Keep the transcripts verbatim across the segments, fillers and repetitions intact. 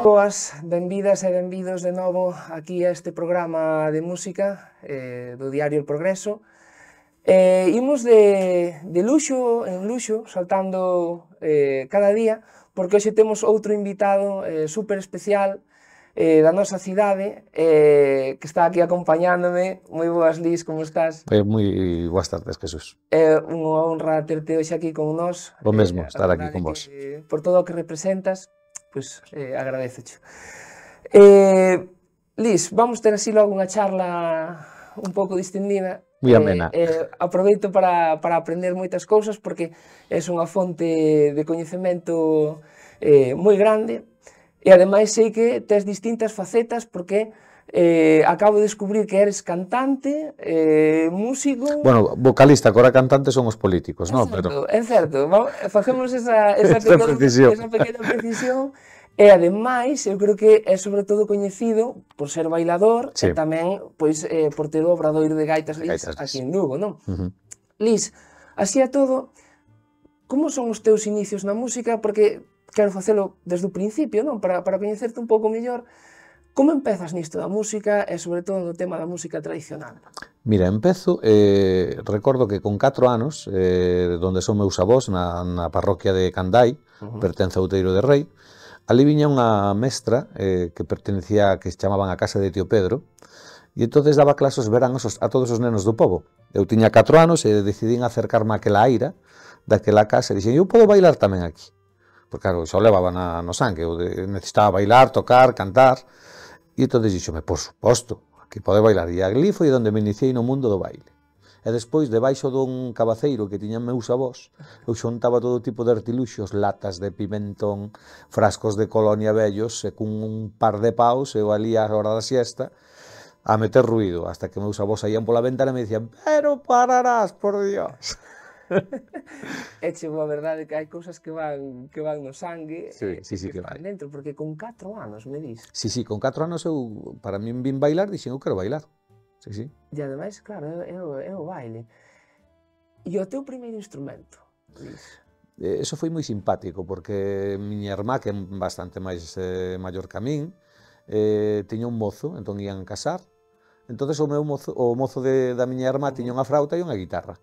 Boas, benvidas e benvidos de novo aquí a este programa de música eh, do Diario El Progreso. Eh, imos de, de luxo en luxo, saltando eh, cada día, porque hoxe temos outro invitado eh, super especial eh, da nosa cidade, eh, que está aquí acompañándome. Moi boas, Lis, como estás? Eh, moi boas tardes, Jesús. É eh, unha honra terte hoxe aquí con nós. O mesmo, eh, estar aquí con vos. Que, por todo o que representas, pois pues, eh, agradezocho. Eh, Lis, vamos ter así logo unha charla un pouco distendida. Moi amena. Eh, eh, aproveito para, para aprender moitas cousas porque é unha fonte de coñecemento eh, moi grande e ademais sei que tes distintas facetas porque eh, acabo de descubrir que eres cantante, eh, músico... Bueno, vocalista, que ahora cantante son os políticos, non? Pero... É certo, facemos esa, esa, esa, pequena, precisión. esa pequena precisión. E ademais, eu creo que é sobre todo coñecido por ser bailador sí. e tamén pois, eh, por ter o obradoiro de Gaitas Lis Gaitas aquí en Lugo, non? Uh -huh. Lis, así a todo, como son os teus inicios na música? Porque quero facelo desde o principio, non? Para, para coñecerte un pouco mellor. Como empezas nisto da música e sobre todo no tema da música tradicional? Mira, empezo, eh, recordo que con catro anos, eh, donde son meus avós, na, na parroquia de Candai, uh -huh. pertence a Outeiro de Rei, ali viña unha mestra eh, que pertenecía, que se chamaban a casa de Tío Pedro, e entonces daba clases veranos a todos os nenos do pobo. Eu tiña catro anos e decidín acercarme àquela aira daquela casa e dixen, eu podo bailar tamén aquí. Porque claro, xa o levaba na, no sangue, eu de, necesitaba bailar, tocar, cantar, e entonces dixome, por suposto, aquí pode bailar. E ali foi onde me iniciei no mundo do baile. E despois, debaixo dun cabaceiro que tiñan meus avós, eu xontaba todo tipo de artiluxos, latas de pimentón, frascos de colonia vellos, e cun un par de paus, eu ali a hora da siesta, a meter ruido, hasta que meus avós saían pola ventana e me dicían, pero pararás, por Dios. É chego a verdade que hai cousas que van, que van no sangue, sí, sí, sí, que, que que van vai. dentro, porque con catro anos, me dis. Sí, sí, con catro anos eu, para min vin bailar, dixen, eu quero bailar. Sí, sí. E ademais, claro, é o, é o baile. E o teu primeiro instrumento, Lis? Eh, eso foi moi simpático, porque miña irmá, que é bastante máis eh, maior que a min, eh, tiña un mozo, entón ian casar, entón o meu mozo, o mozo de, da miña irmá tiña unha frauta e unha guitarra.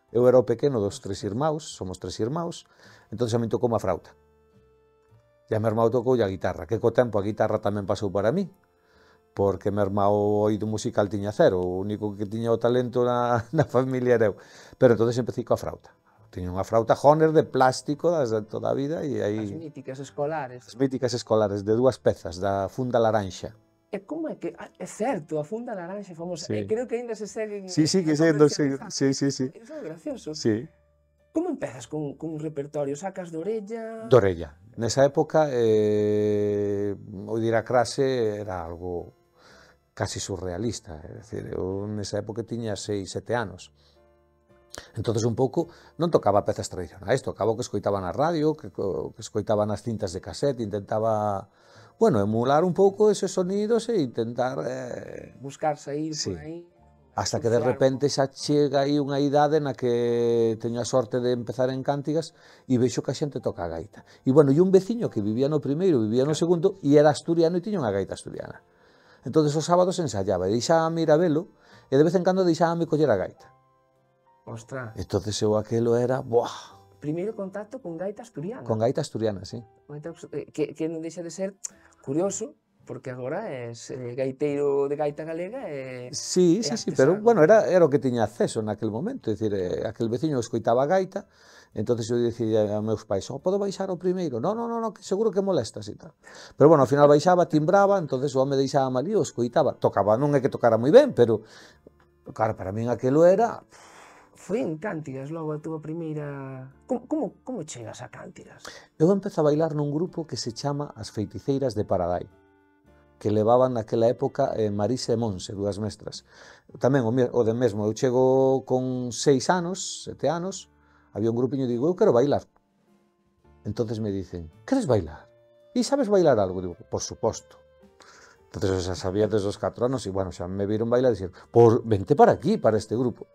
Eu era o pequeno dos tres irmãos, somos tres irmãos, entón a min tocou unha frauta. E a meu irmão tocou a guitarra, que co tempo a guitarra tamén pasou para mí, porque meu irmão o oído musical tiña cero, o único que tiña o talento na, na familia era eu. Pero entón empecé coa frauta. Tiña unha frauta Honer de plástico de toda a vida e aí... As míticas escolares. As míticas escolares de dúas pezas, da funda laranxa. E como é que... É certo, a funda laranxa famosa. Sí. E creo que ainda se seguen... Sí, sí, que sendo, sí, sí, sí, sí. Eso é gracioso. Sí. Como empezas con, con un repertorio? Sacas de orella? De orella. Nesa época, eh, o dir a clase era algo casi surrealista, é dicir, eu nesa época tiña seis, sete anos. Entonces un pouco non tocaba pezas tradicionais, tocaba o que escoitaba na radio, que, que escoitaba nas cintas de cassette, intentaba, bueno, emular un pouco eses sonidos e intentar... Eh, buscar sair sí. por aí. Hasta que de repente xa chega aí unha idade na que teño a sorte de empezar en Cántigas e vexo que a xente toca a gaita. E bueno, e un veciño que vivía no primeiro, vivía no segundo, e era asturiano e tiña unha gaita asturiana. Entón, os sábados ensayaba, e deixábame ir a velo, e de vez en cando deixábame coller a gaita. Ostras. Entón, eu aquelo era, buah! Primeiro contacto con gaita asturiana. Con gaita asturiana, sí. Que, que non deixa de ser curioso, porque agora és eh, gaiteiro de gaita galega e... Sí, sí, sí, pero, bueno, era, era o que tiña acceso naquel momento, é dicir, eh, aquel veciño escoitaba a gaita, entonces eu dicía a meus pais, oh, podo baixar o primeiro? No, no, no, no, que seguro que molestas e tal. Pero, bueno, ao final baixaba, timbraba, entonces o home deixaba mal e o escoitaba. Tocaba, non é que tocara moi ben, pero, claro, para min aquelo era... Foi en Cántigas logo a túa primeira... Como, como, como chegas a Cántigas? Eu empezo a bailar nun grupo que se chama As Feiticeiras de Paradai, que levaban naquela época eh, Marisa e Monse, dúas mestras. Tamén o, o de mesmo, eu chego con seis anos, sete anos, había un grupiño e digo, eu quero bailar. Entonces me dicen, queres bailar? E sabes bailar algo? Digo, por suposto. Entonces xa sabía desde os catro anos e, bueno, xa me viron bailar e dixeron, por, vente para aquí, para este grupo.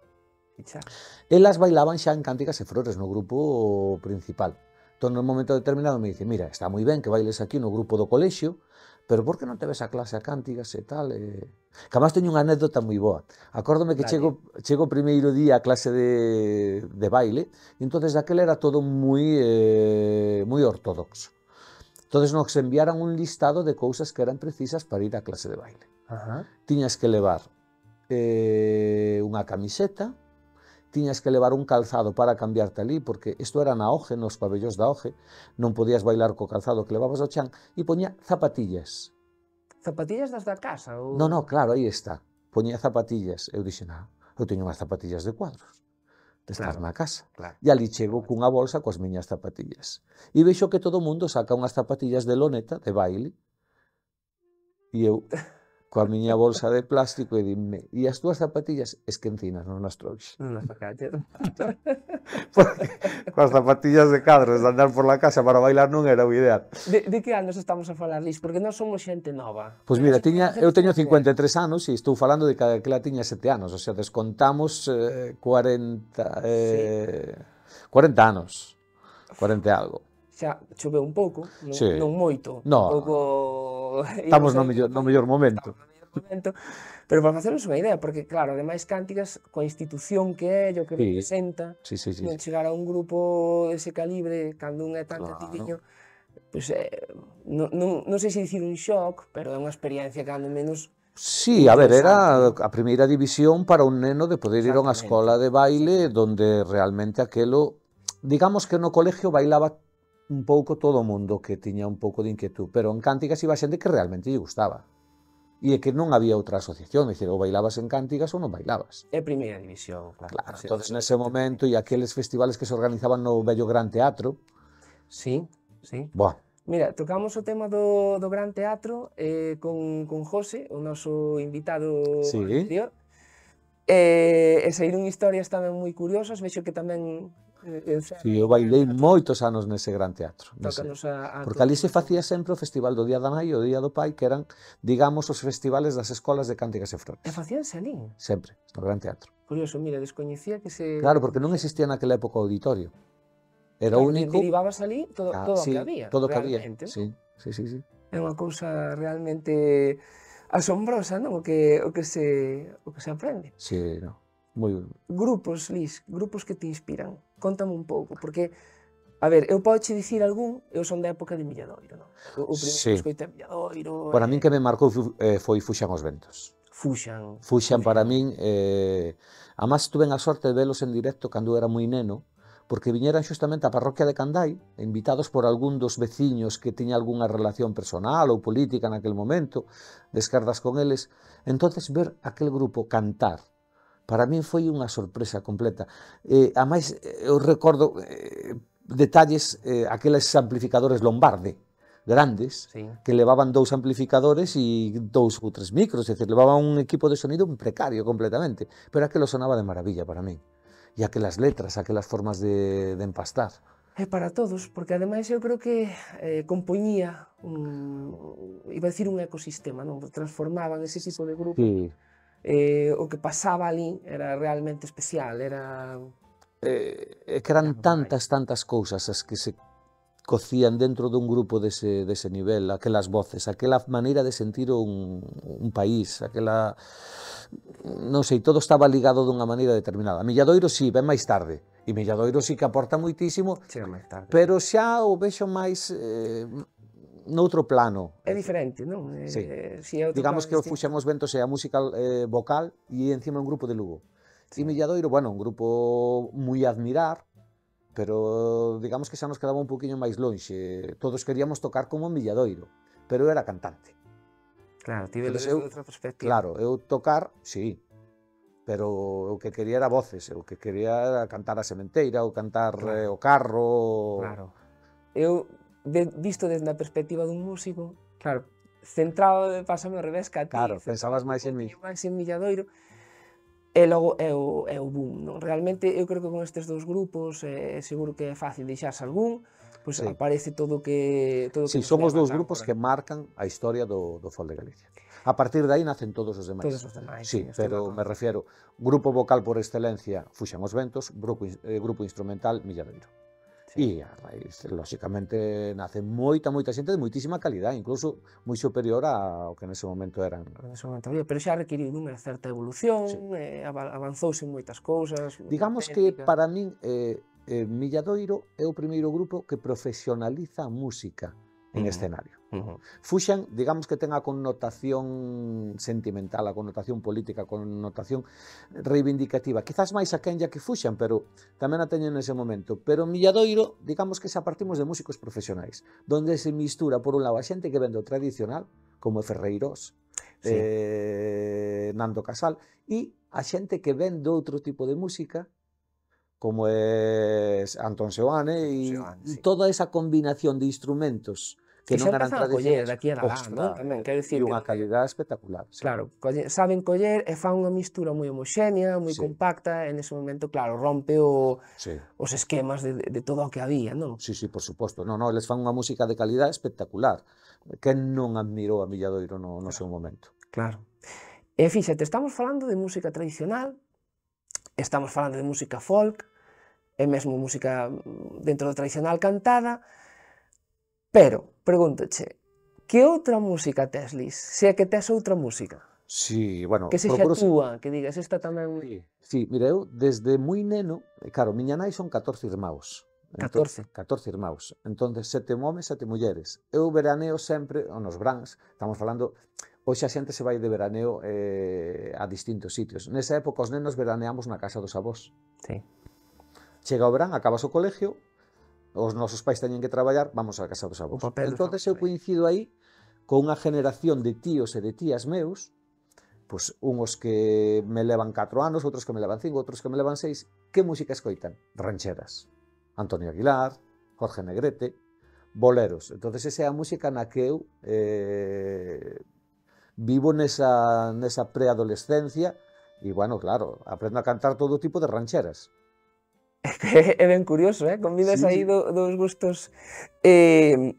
Elas bailaban xa en Cántigas e Flores, no grupo principal. Entón, nun momento determinado me dice, mira, está moi ben que bailes aquí no grupo do colexio, pero por que non te ves a clase a cántigas e tal? E... Que además teño unha anécdota moi boa. Acórdome que chego, chego o primeiro día a clase de, de baile, e entonces daquela era todo moi, eh, moi ortodoxo. Entonces nos enviaran un listado de cousas que eran precisas para ir á clase de baile. Ajá. Tiñas que levar eh, unha camiseta, tiñas que levar un calzado para cambiarte ali, porque isto era na Oje, nos pabellóns da Oje, non podías bailar co calzado que levabas ao chan, e poñía zapatillas. Zapatillas das da casa? Ou... No, no, claro, aí está. Poñía zapatillas. Eu dixen, ah, eu teño unhas zapatillas de cuadros, de estar Claro, na casa. claro. E ali chego cunha bolsa coas miñas zapatillas. E vexo que todo o mundo saca unhas zapatillas de loneta, de baile, e eu... coa miña bolsa de plástico e dime, e as túas zapatillas? Es que encinas non nas trouxe. Non nas sacaches. Porque coas zapatillas de cadros de andar por la casa para bailar non era o ideal. De, de que anos estamos a falar, Lis? Porque nós somos xente nova. Pois mira, tiña, eu teño cincuenta e tres anos e estou falando de que aquela tiña sete anos, o sea, descontamos eh, cuarenta, eh, sí. cuarenta anos, cuarenta e algo. Xa choveu un pouco, non, Sí. non moito, No, un pouco... estamos no mellor, no mellor momento. momento. Pero para facernos unha idea, porque claro, ademais Cántigas, coa institución que é, o que Sí. representa, Sí, sí, sí. non chegar a un grupo dese calibre, cando un é tan Claro. cativiño, pois, eh, non, non, non sei se dicir un shock, pero é unha experiencia cando menos... Sí, a ver, era interesante. a primeira división para un neno de poder ir a unha Exactamente. escola de baile donde realmente aquelo, digamos que no colegio bailaba un pouco todo o mundo que tiña un pouco de inquietud, pero en Cántigas iba xente que realmente lle gustaba. E é que non había outra asociación, é dicir, ou bailabas en Cántigas ou non bailabas. É primeira división, claro. Claro, Sí, entonces sí, nese momento, e aqueles festivales que se organizaban no vello Gran Teatro, Sí, sí. buah, Mira, tocamos o tema do, do Gran Teatro eh, con, con José, o noso invitado Sí. anterior, e, e saíron historias tamén moi curiosas, vexo que tamén eh, si eu bailei moitos anos nese Gran Teatro. Nese. tócanos a, a Porque ali todos. se facía sempre o Festival do Día da Nai e o Día do Pai, que eran, digamos, os festivales das escolas de Cántigas e Flores. E facíanse ali. Sempre, no Gran Teatro. Curioso, mira, descoñecía que se... Claro, porque non existía naquela época o auditorio. Era o Claro, único... derivabas ali todo, Ah, todo o sí, que había, todo o que había. realmente. Sí, sí, sí, sí. É unha cousa realmente asombrosa, non? O que, o que, se, o que se aprende. Sí, no. Moi... Grupos, Lis, grupos que te inspiran. Contame un pouco, porque, a ver, eu podo che dicir algún, eu son da época de Milladoiro, non? O, o primeiro Sí. escoitei Milladoiro... Para eh, min que me marcou eh, foi Fuxan os Ventos. Fuxan. Fuxan para min, eh, además tuve a sorte de velos en directo cando era moi neno, porque viñeran xustamente á parroquia de Candai, invitados por algún dos veciños que tiña algunha relación personal ou política naquel momento, de esquerdas con eles. Entonces ver aquel grupo cantar, para min foi unha sorpresa completa. Eh, ademais, eu recordo eh, detalles, eh, aqueles amplificadores Lombarde, grandes, Sí. que levaban dous amplificadores e dous ou tres micros, é dicir, levaban un equipo de sonido precario completamente, pero aquelo sonaba de maravilla para min. E aquelas letras, aquelas formas de, de empastar. É para todos, porque ademais eu creo que eh, compoñía un, iba a decir un ecosistema, non? Transformaban ese tipo de grupo. Sí. Eh, o que pasaba ali era realmente especial, era... Eh, é que eran tantas, tantas cousas as que se cocían dentro dun grupo dese, dese nivel, aquelas voces, aquela maneira de sentir un, un país, aquela... Non sei, todo estaba ligado dunha maneira determinada. Milladoiro sí, ven máis tarde, e Milladoiro sí que aporta moitísimo, Chega máis tarde. pero xa o vexo máis eh, noutro plano. É diferente, non? Eh, Sí. si é outro Digamos plano que o distinto. Fuxan os Ventos é a música eh, vocal e encima un grupo de Lugo. Sí. E Milladoiro, bueno, un grupo moi a admirar, pero digamos que xa nos quedaba un poquinho máis lonxe. Todos queríamos tocar como Milladoiro, pero eu era cantante. Claro, tive Entonces, desde eu- outra perspectiva. Claro, eu tocar, sí, pero o que quería era voces, o que quería era cantar a sementeira, ou cantar Claro. eh, o carro... Claro. Eu, de, visto desde a perspectiva dun músico, claro, centrado, pásame ao revés que a ti. Claro, centrado pensabas máis en mí. un pouquinho máis en Milladoiro, e logo é o, é o boom, non? Realmente, eu creo que con estes dous grupos, eh, seguro que é fácil deixarse algún, pois Sí. aparece todo o que... Todo o que Sí, nos son os leva dous tan grupos por que marcan a historia do, do Fol de Galicia. A partir de aí nacen todos os demais. Todos os demais, Sí, sí, estou de pero acordo. me refiero, grupo vocal por excelencia, Fuxan os Ventos, grupo, ins- eh, grupo instrumental, Milladoiro. E a raíz, lóxicamente, nace moita, moita xente de moitísima calidad, incluso moi superior ao que nese momento eran. Nese momento había, pero xa requiriu unha certa evolución, Sí. eh, avanzouse en moitas cousas. Digamos que para min eh, eh, Milladoiro é o primeiro grupo que profesionaliza a música en Uh-huh. escenario. Uh-huh. Fuxan, digamos que ten a connotación sentimental, a connotación política, a connotación reivindicativa. Quizás máis a Kenya que Fuxan, pero tamén a teñen nese momento. Pero Milladoiro, digamos que xa partimos de músicos profesionais, donde se mistura, por un lado, a xente que vende o tradicional, como Ferreirós, sí. eh, Nando Casal, e a xente que vende outro tipo de música, como é Antón Seoane, e sí. toda esa combinación de instrumentos que, que non eran tradicionais, daqui a lá, non? Tamén, quero dicir, e unha calidad espectacular. Sí. Claro, colle, saben coller e fan unha mistura moi homoxénea, moi sí. compacta, e nese momento, claro, rompe o, sí. os esquemas de, de todo o que había, non? Sí, sí, por suposto. Non, non, eles fan unha música de calidad espectacular. Quen non admirou a Milladoiro no, no claro. seu momento? Claro. E fíxate, estamos falando de música tradicional, estamos falando de música folk, e mesmo música dentro do tradicional cantada, pero, pregúntoche, que outra música tes, Lis? Se é que tes outra música? Sí, bueno... Que sexa túa, que digas, esta tamén... Sí, sí, mira, eu desde moi neno, claro, miña nai son catorce irmãos. catorce? catorce irmãos. Entón, sete homes, sete mulleres. Eu veraneo sempre, nos brans, estamos falando... Hoxe a xente se vai de veraneo eh, a distintos sitios. Nesa época os nenos veraneamos na casa dos avós. Sí. Chega o verán, acabas o colegio, os nosos pais teñen que traballar, vamos á casa dos avós. Entón, eu coincido aí con unha generación de tíos e de tías meus, pois uns que me levan catro anos, outros que me levan cinco, outros que me levan seis. Que música escoitan? Rancheras. Antonio Aguilar, Jorge Negrete, boleros. Entón, esa é a música na que eu eh, vivo nesa, nesa preadolescencia e, bueno, claro, aprendo a cantar todo tipo de rancheras. É ben curioso, eh? Combinas sí, aí do, dos gustos. Eh,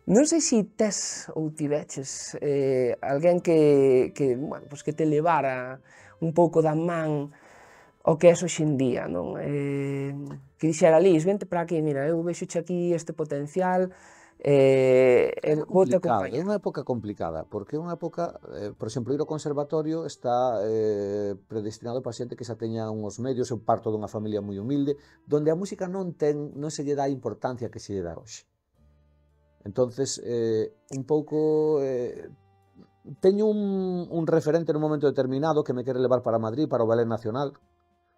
non sei se tes ou tiveches eh, alguén que, que, bueno, pues que te levara un pouco da man o que és hoxe en día, non? Eh, que dixera, Lis, vente para aquí, mira, eu vexoche aquí este potencial, eh, é complicado, é unha época complicada, porque é unha época, eh, por exemplo, ir ao conservatorio está eh, predestinado para xente que xa teña uns medios. Eu parto dunha familia moi humilde, donde a música non ten, non se lle dá a importancia que se lle dá hoxe. Entonces, eh, un pouco, eh, teño un, un referente nun momento determinado que me quere levar para Madrid, para o Ballet Nacional.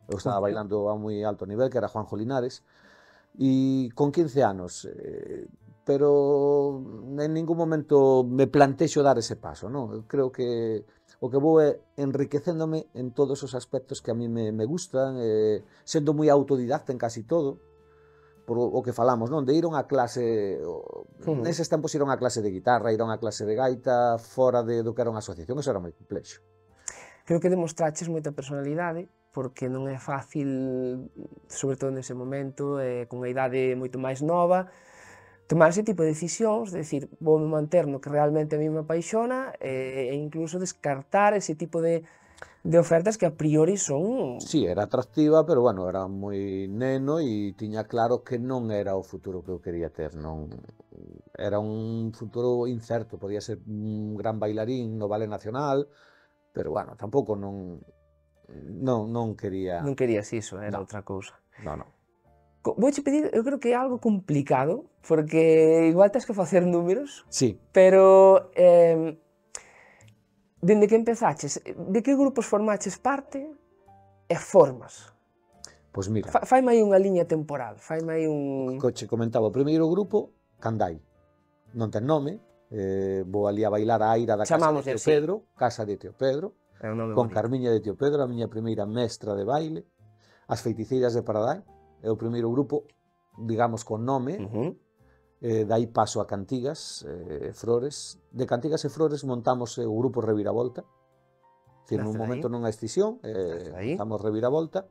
Eu estaba bailando a moi alto nivel, que era Juanjo Linares, e con quince anos, eh, pero en ningún momento me plantexo dar ese paso, non? Eu creo que o que vou é enriquecéndome en todos os aspectos que a mí me, me gustan, eh, sendo moi autodidacta en casi todo, por o que falamos, non? De ir a unha clase, uh-huh. neses tempos ir a unha clase de guitarra, ir a unha clase de gaita, fora de, do que era unha asociación, eso era moi complexo. Creo que demostraches moita personalidade, porque non é fácil, sobre todo nese momento, eh, con unha idade moito máis nova, tomar ese tipo de decisións, de decir, vou manter no que realmente a mí me apaixona e, e incluso descartar ese tipo de, de ofertas que a priori son... Sí, era atractiva, pero bueno, era moi neno e tiña claro que non era o futuro que eu quería ter, non... Era un futuro incerto, podía ser un gran bailarín no Ballet Nacional, pero bueno, tampouco non... Non, non quería... Non querías iso, era no. outra cousa. Non, non. Vouche pedir, eu creo que é algo complicado, porque igual tens que facer números, sí. pero eh, dende que empezaches, de que grupos formaches parte e formas? Pois mira... Fa, faime aí unha liña temporal, faime aí un... Coche comentaba, o primeiro grupo, Candai, non ten nome, eh, vou ali a bailar a aira da casa de Teo así. Pedro, casa de Teo Pedro, con bonito. Carmiña de Teo Pedro, a miña primeira mestra de baile, as Feiticeiras de Paradai. É o primeiro grupo, digamos, con nome, uh-huh. eh, dai paso a Cantigas, eh, Frores. De Cantigas e Frores montamos eh, o grupo Reviravolta, que nun momento non hai escisión, eh, montamos Reviravolta,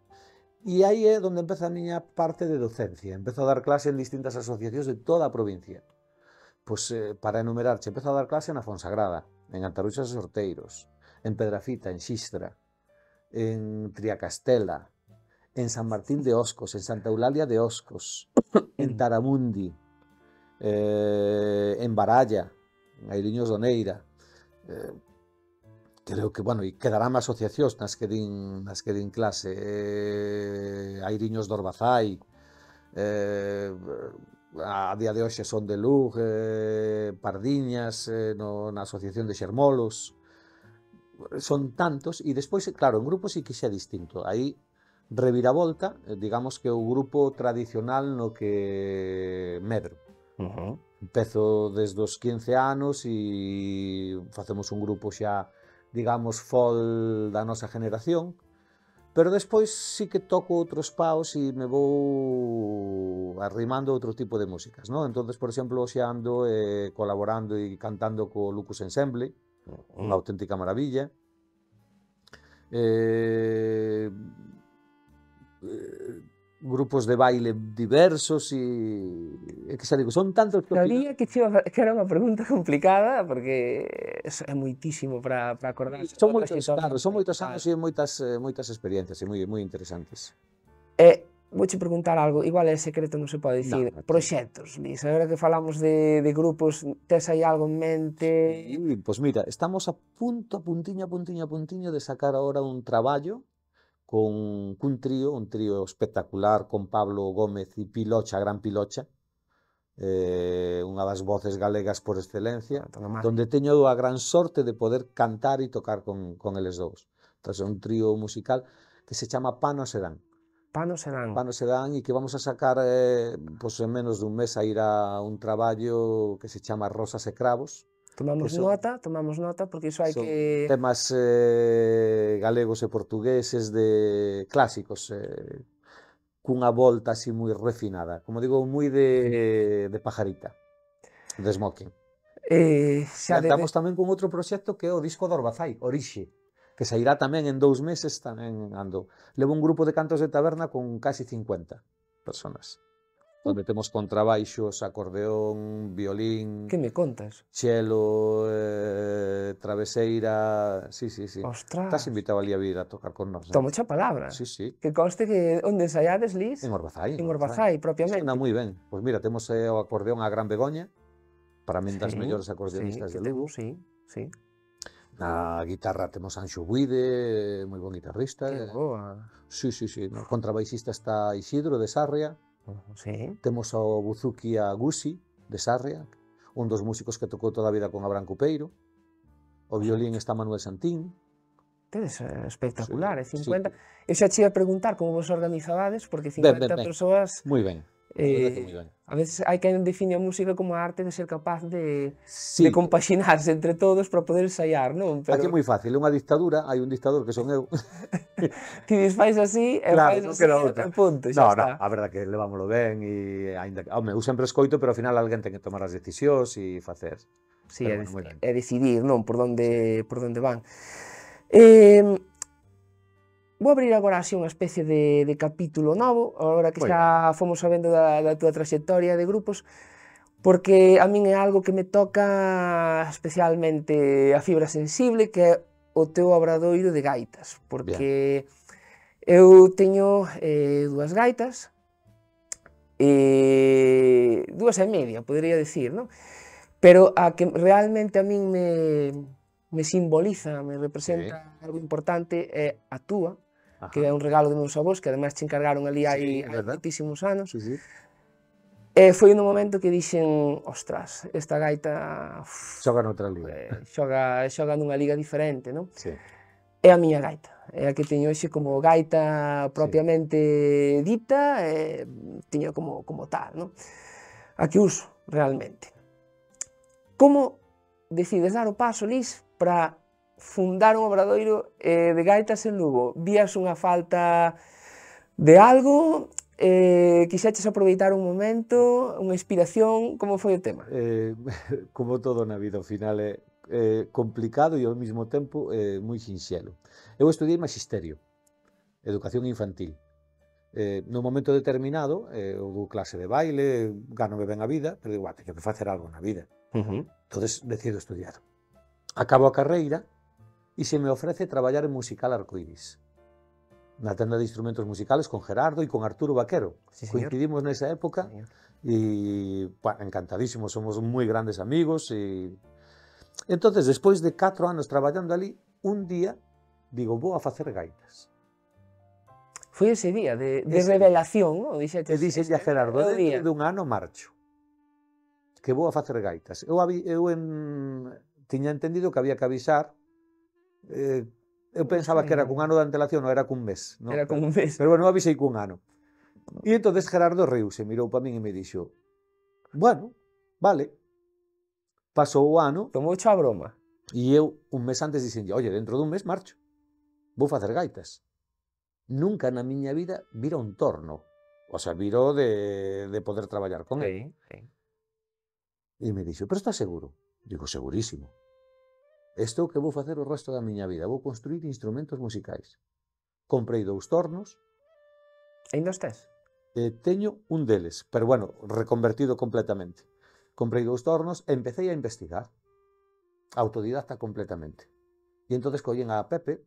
e aí é onde empeza a miña parte de docencia. Empezo a dar clase en distintas asociacións de toda a provincia. Pois, eh, para enumerarche, empezo a dar clase na Fonsagrada, en Antaruxas e Sorteiros, en Pedrafita, en Xistra, en Triacastela, en San Martín de Oscos, en Santa Eulalia de Oscos, en Taramundi, eh, en Baralla, en Airiños do Neira. Eh, creo que, bueno, e quedarán asociacións nas que din, nas que din clase, eh, Airiños do Orbazai, eh, a día de hoxe son de Lug, eh, Pardiñas, eh, no, na asociación de Xermolos, son tantos, e despois, claro, en grupos sí que xa é distinto, aí reviravolta, digamos que o grupo tradicional no que medro. Uh-huh. Empezo desde os quince anos e facemos un grupo xa, digamos, fol da nosa generación, pero despois sí que toco outros paos e me vou arrimando a outro tipo de músicas, non? Entonces, por exemplo, xa ando eh, colaborando e cantando co Lucas Ensemble, uh-huh. unha auténtica maravilla. Eh, eh, grupos de baile diversos e, e que xa digo, son tantos que... Sabía que, chiva, que era unha pregunta complicada porque é moitísimo para acordarse. Son moitos, claro, son moitos anos e moitas, moitas experiencias e moi, moi interesantes. E vouche preguntar algo, igual é secreto, non se pode dicir, no, no, proxectos, Liz, agora que falamos de, de grupos, tes aí algo en mente? Sí, pois pues mira, estamos a punto, a puntiño, a puntiño, a puntiño de sacar agora un traballo con cun trío, un trío espectacular con Pablo Gómez e Pilocha, Gran Pilocha, eh, unha das voces galegas por excelencia, donde teño a gran sorte de poder cantar e tocar con, con eles dous. Entón, é un trío musical que se chama Pano Sedán. Pano Sedán. Pano Sedán, e que vamos a sacar, eh, pues, en menos dun mes a ir a un traballo que se chama Rosas e Cravos. Tomamos son, nota, tomamos nota, porque iso hai que... temas eh, galegos e portugueses de clásicos, eh, cunha volta así moi refinada, como digo, moi de, de pajarita, de smoking. Eh, xa e andamos de... tamén con outro proxecto que é o disco de Orbazai, Orixe, que sairá tamén en dous meses, tamén ando. Levo un grupo de cantos de taberna con casi cincuenta personas, onde temos contrabaixos, acordeón, violín... Que me contas? Chelo, eh, traveseira... Sí, sí, sí. Ostras! Estás invitado ali a vir a tocar con nós. Tomo xa palabra. Sí, sí. Que conste que onde ensaiades, Liz? En Orbazai. En Orbazai, propiamente. Anda moi ben. Pois mira, temos eh, o acordeón a Gran Begoña, para min das sí, mellores acordeonistas sí, de Lugo. Sí, sí. Na guitarra temos Anxo Buide, moi bon guitarrista. Que boa. Sí, sí, sí. No contrabaixista está Isidro de Sarria. Uh, sí. Temos ao buzuki a Gusi de Sarria, un dos músicos que tocou toda a vida con Abraham Cupeiro. O violín está Manuel Santín. Tedes espectacular, sí, cincuenta. Sí. Eu xa che ia preguntar como vos organizabades, porque cincuenta ben, ben, ben. persoas... Moi ben. Eh, moi ben. A veces hai quen define a música como a arte de ser capaz de, sí. de compaxinarse entre todos para poder ensaiar, non? Pero... Aquí é moi fácil, é unha dictadura, hai un dictador que son eu. Ti desfais así, e claro, fais no así, e punto, xa no, está. No, a verdade que levámoslo ben, e ainda, home, eu sempre escoito, pero ao final alguén ten que tomar as decisións e facer. Sí, é, bueno, é decidir, non? Por onde, sí. por onde van. Eh, Vou abrir agora así unha especie de, de capítulo novo, agora que Muy xa bien. Fomos sabendo da, da túa traxectoria de grupos, porque a min é algo que me toca especialmente a fibra sensible, que é o teu obradoiro de gaitas, porque bien. Eu teño eh, dúas gaitas, e dúas e media, podería decir, non? Pero a que realmente a min me, me simboliza, me representa sí. algo importante é a túa, Ajá. que é un regalo de meus avós, que ademais te encargaron ali hai, sí, hai moitísimos anos. Sí, sí. E foi no momento que dixen, ostras, esta gaita... Uf, xoga noutra liga. Eh, xoga, xoga nunha liga diferente, non? Sí. É a miña gaita, é a que teño hoxe como gaita propiamente sí. dita, e teño como, como tal, non? A que uso, realmente. Como decides dar o paso, Liz, para fundar un obradoiro eh, de gaitas en Lugo? Vías unha falta de algo? Eh, quixeches aproveitar un momento, unha inspiración? Como foi o tema? Eh, como todo na vida, ao final é eh, complicado e ao mesmo tempo eh, moi sinxelo. Eu estudiei magisterio, educación infantil. Eh, no momento determinado, eh, eu dou clase de baile, ganome ben a vida, pero digo, ah, teño que facer algo na vida. Uh-huh. Entonces decido estudiar. Acabo a carreira e se me ofrece traballar en musical Arcoiris. na tenda de instrumentos musicales con Gerardo e con Arturo Vaquero. Sí, señor. Coincidimos nesa época e bueno, encantadísimos, somos moi grandes amigos e entonces, despois de catro anos traballando ali, un día digo, vou a facer gaitas. Foi ese día de, de Ese revelación, non? Dixetes, e dixenlle a Gerardo, é o día. dentro dun ano marcho, que vou a facer gaitas. Eu, avi, eu en, tiña entendido que había que avisar, eh, eu pensaba que era cun ano de antelación, non era cun mes. Non? Era cun mes. Pero bueno, eu avisei cun ano. E entonces Gerardo riuse, mirou para min e me dixo, bueno, vale. Pasou o ano. Tomou a broma. E eu, un mes antes, dixenlle, oye, dentro dun mes marcho, vou facer gaitas. Nunca na miña vida vira un torno. O sea, viro de, de poder traballar con Sí, él. sí. E me dixo, pero estás seguro? Digo, segurísimo. Isto é o que vou facer o resto da miña vida. Vou construir instrumentos musicais. Comprei dous tornos. Ainda os tes? E teño un deles, pero bueno, reconvertido completamente. Comprei dous tornos e empecé a investigar. Autodidacta completamente. E entonces collen a Pepe,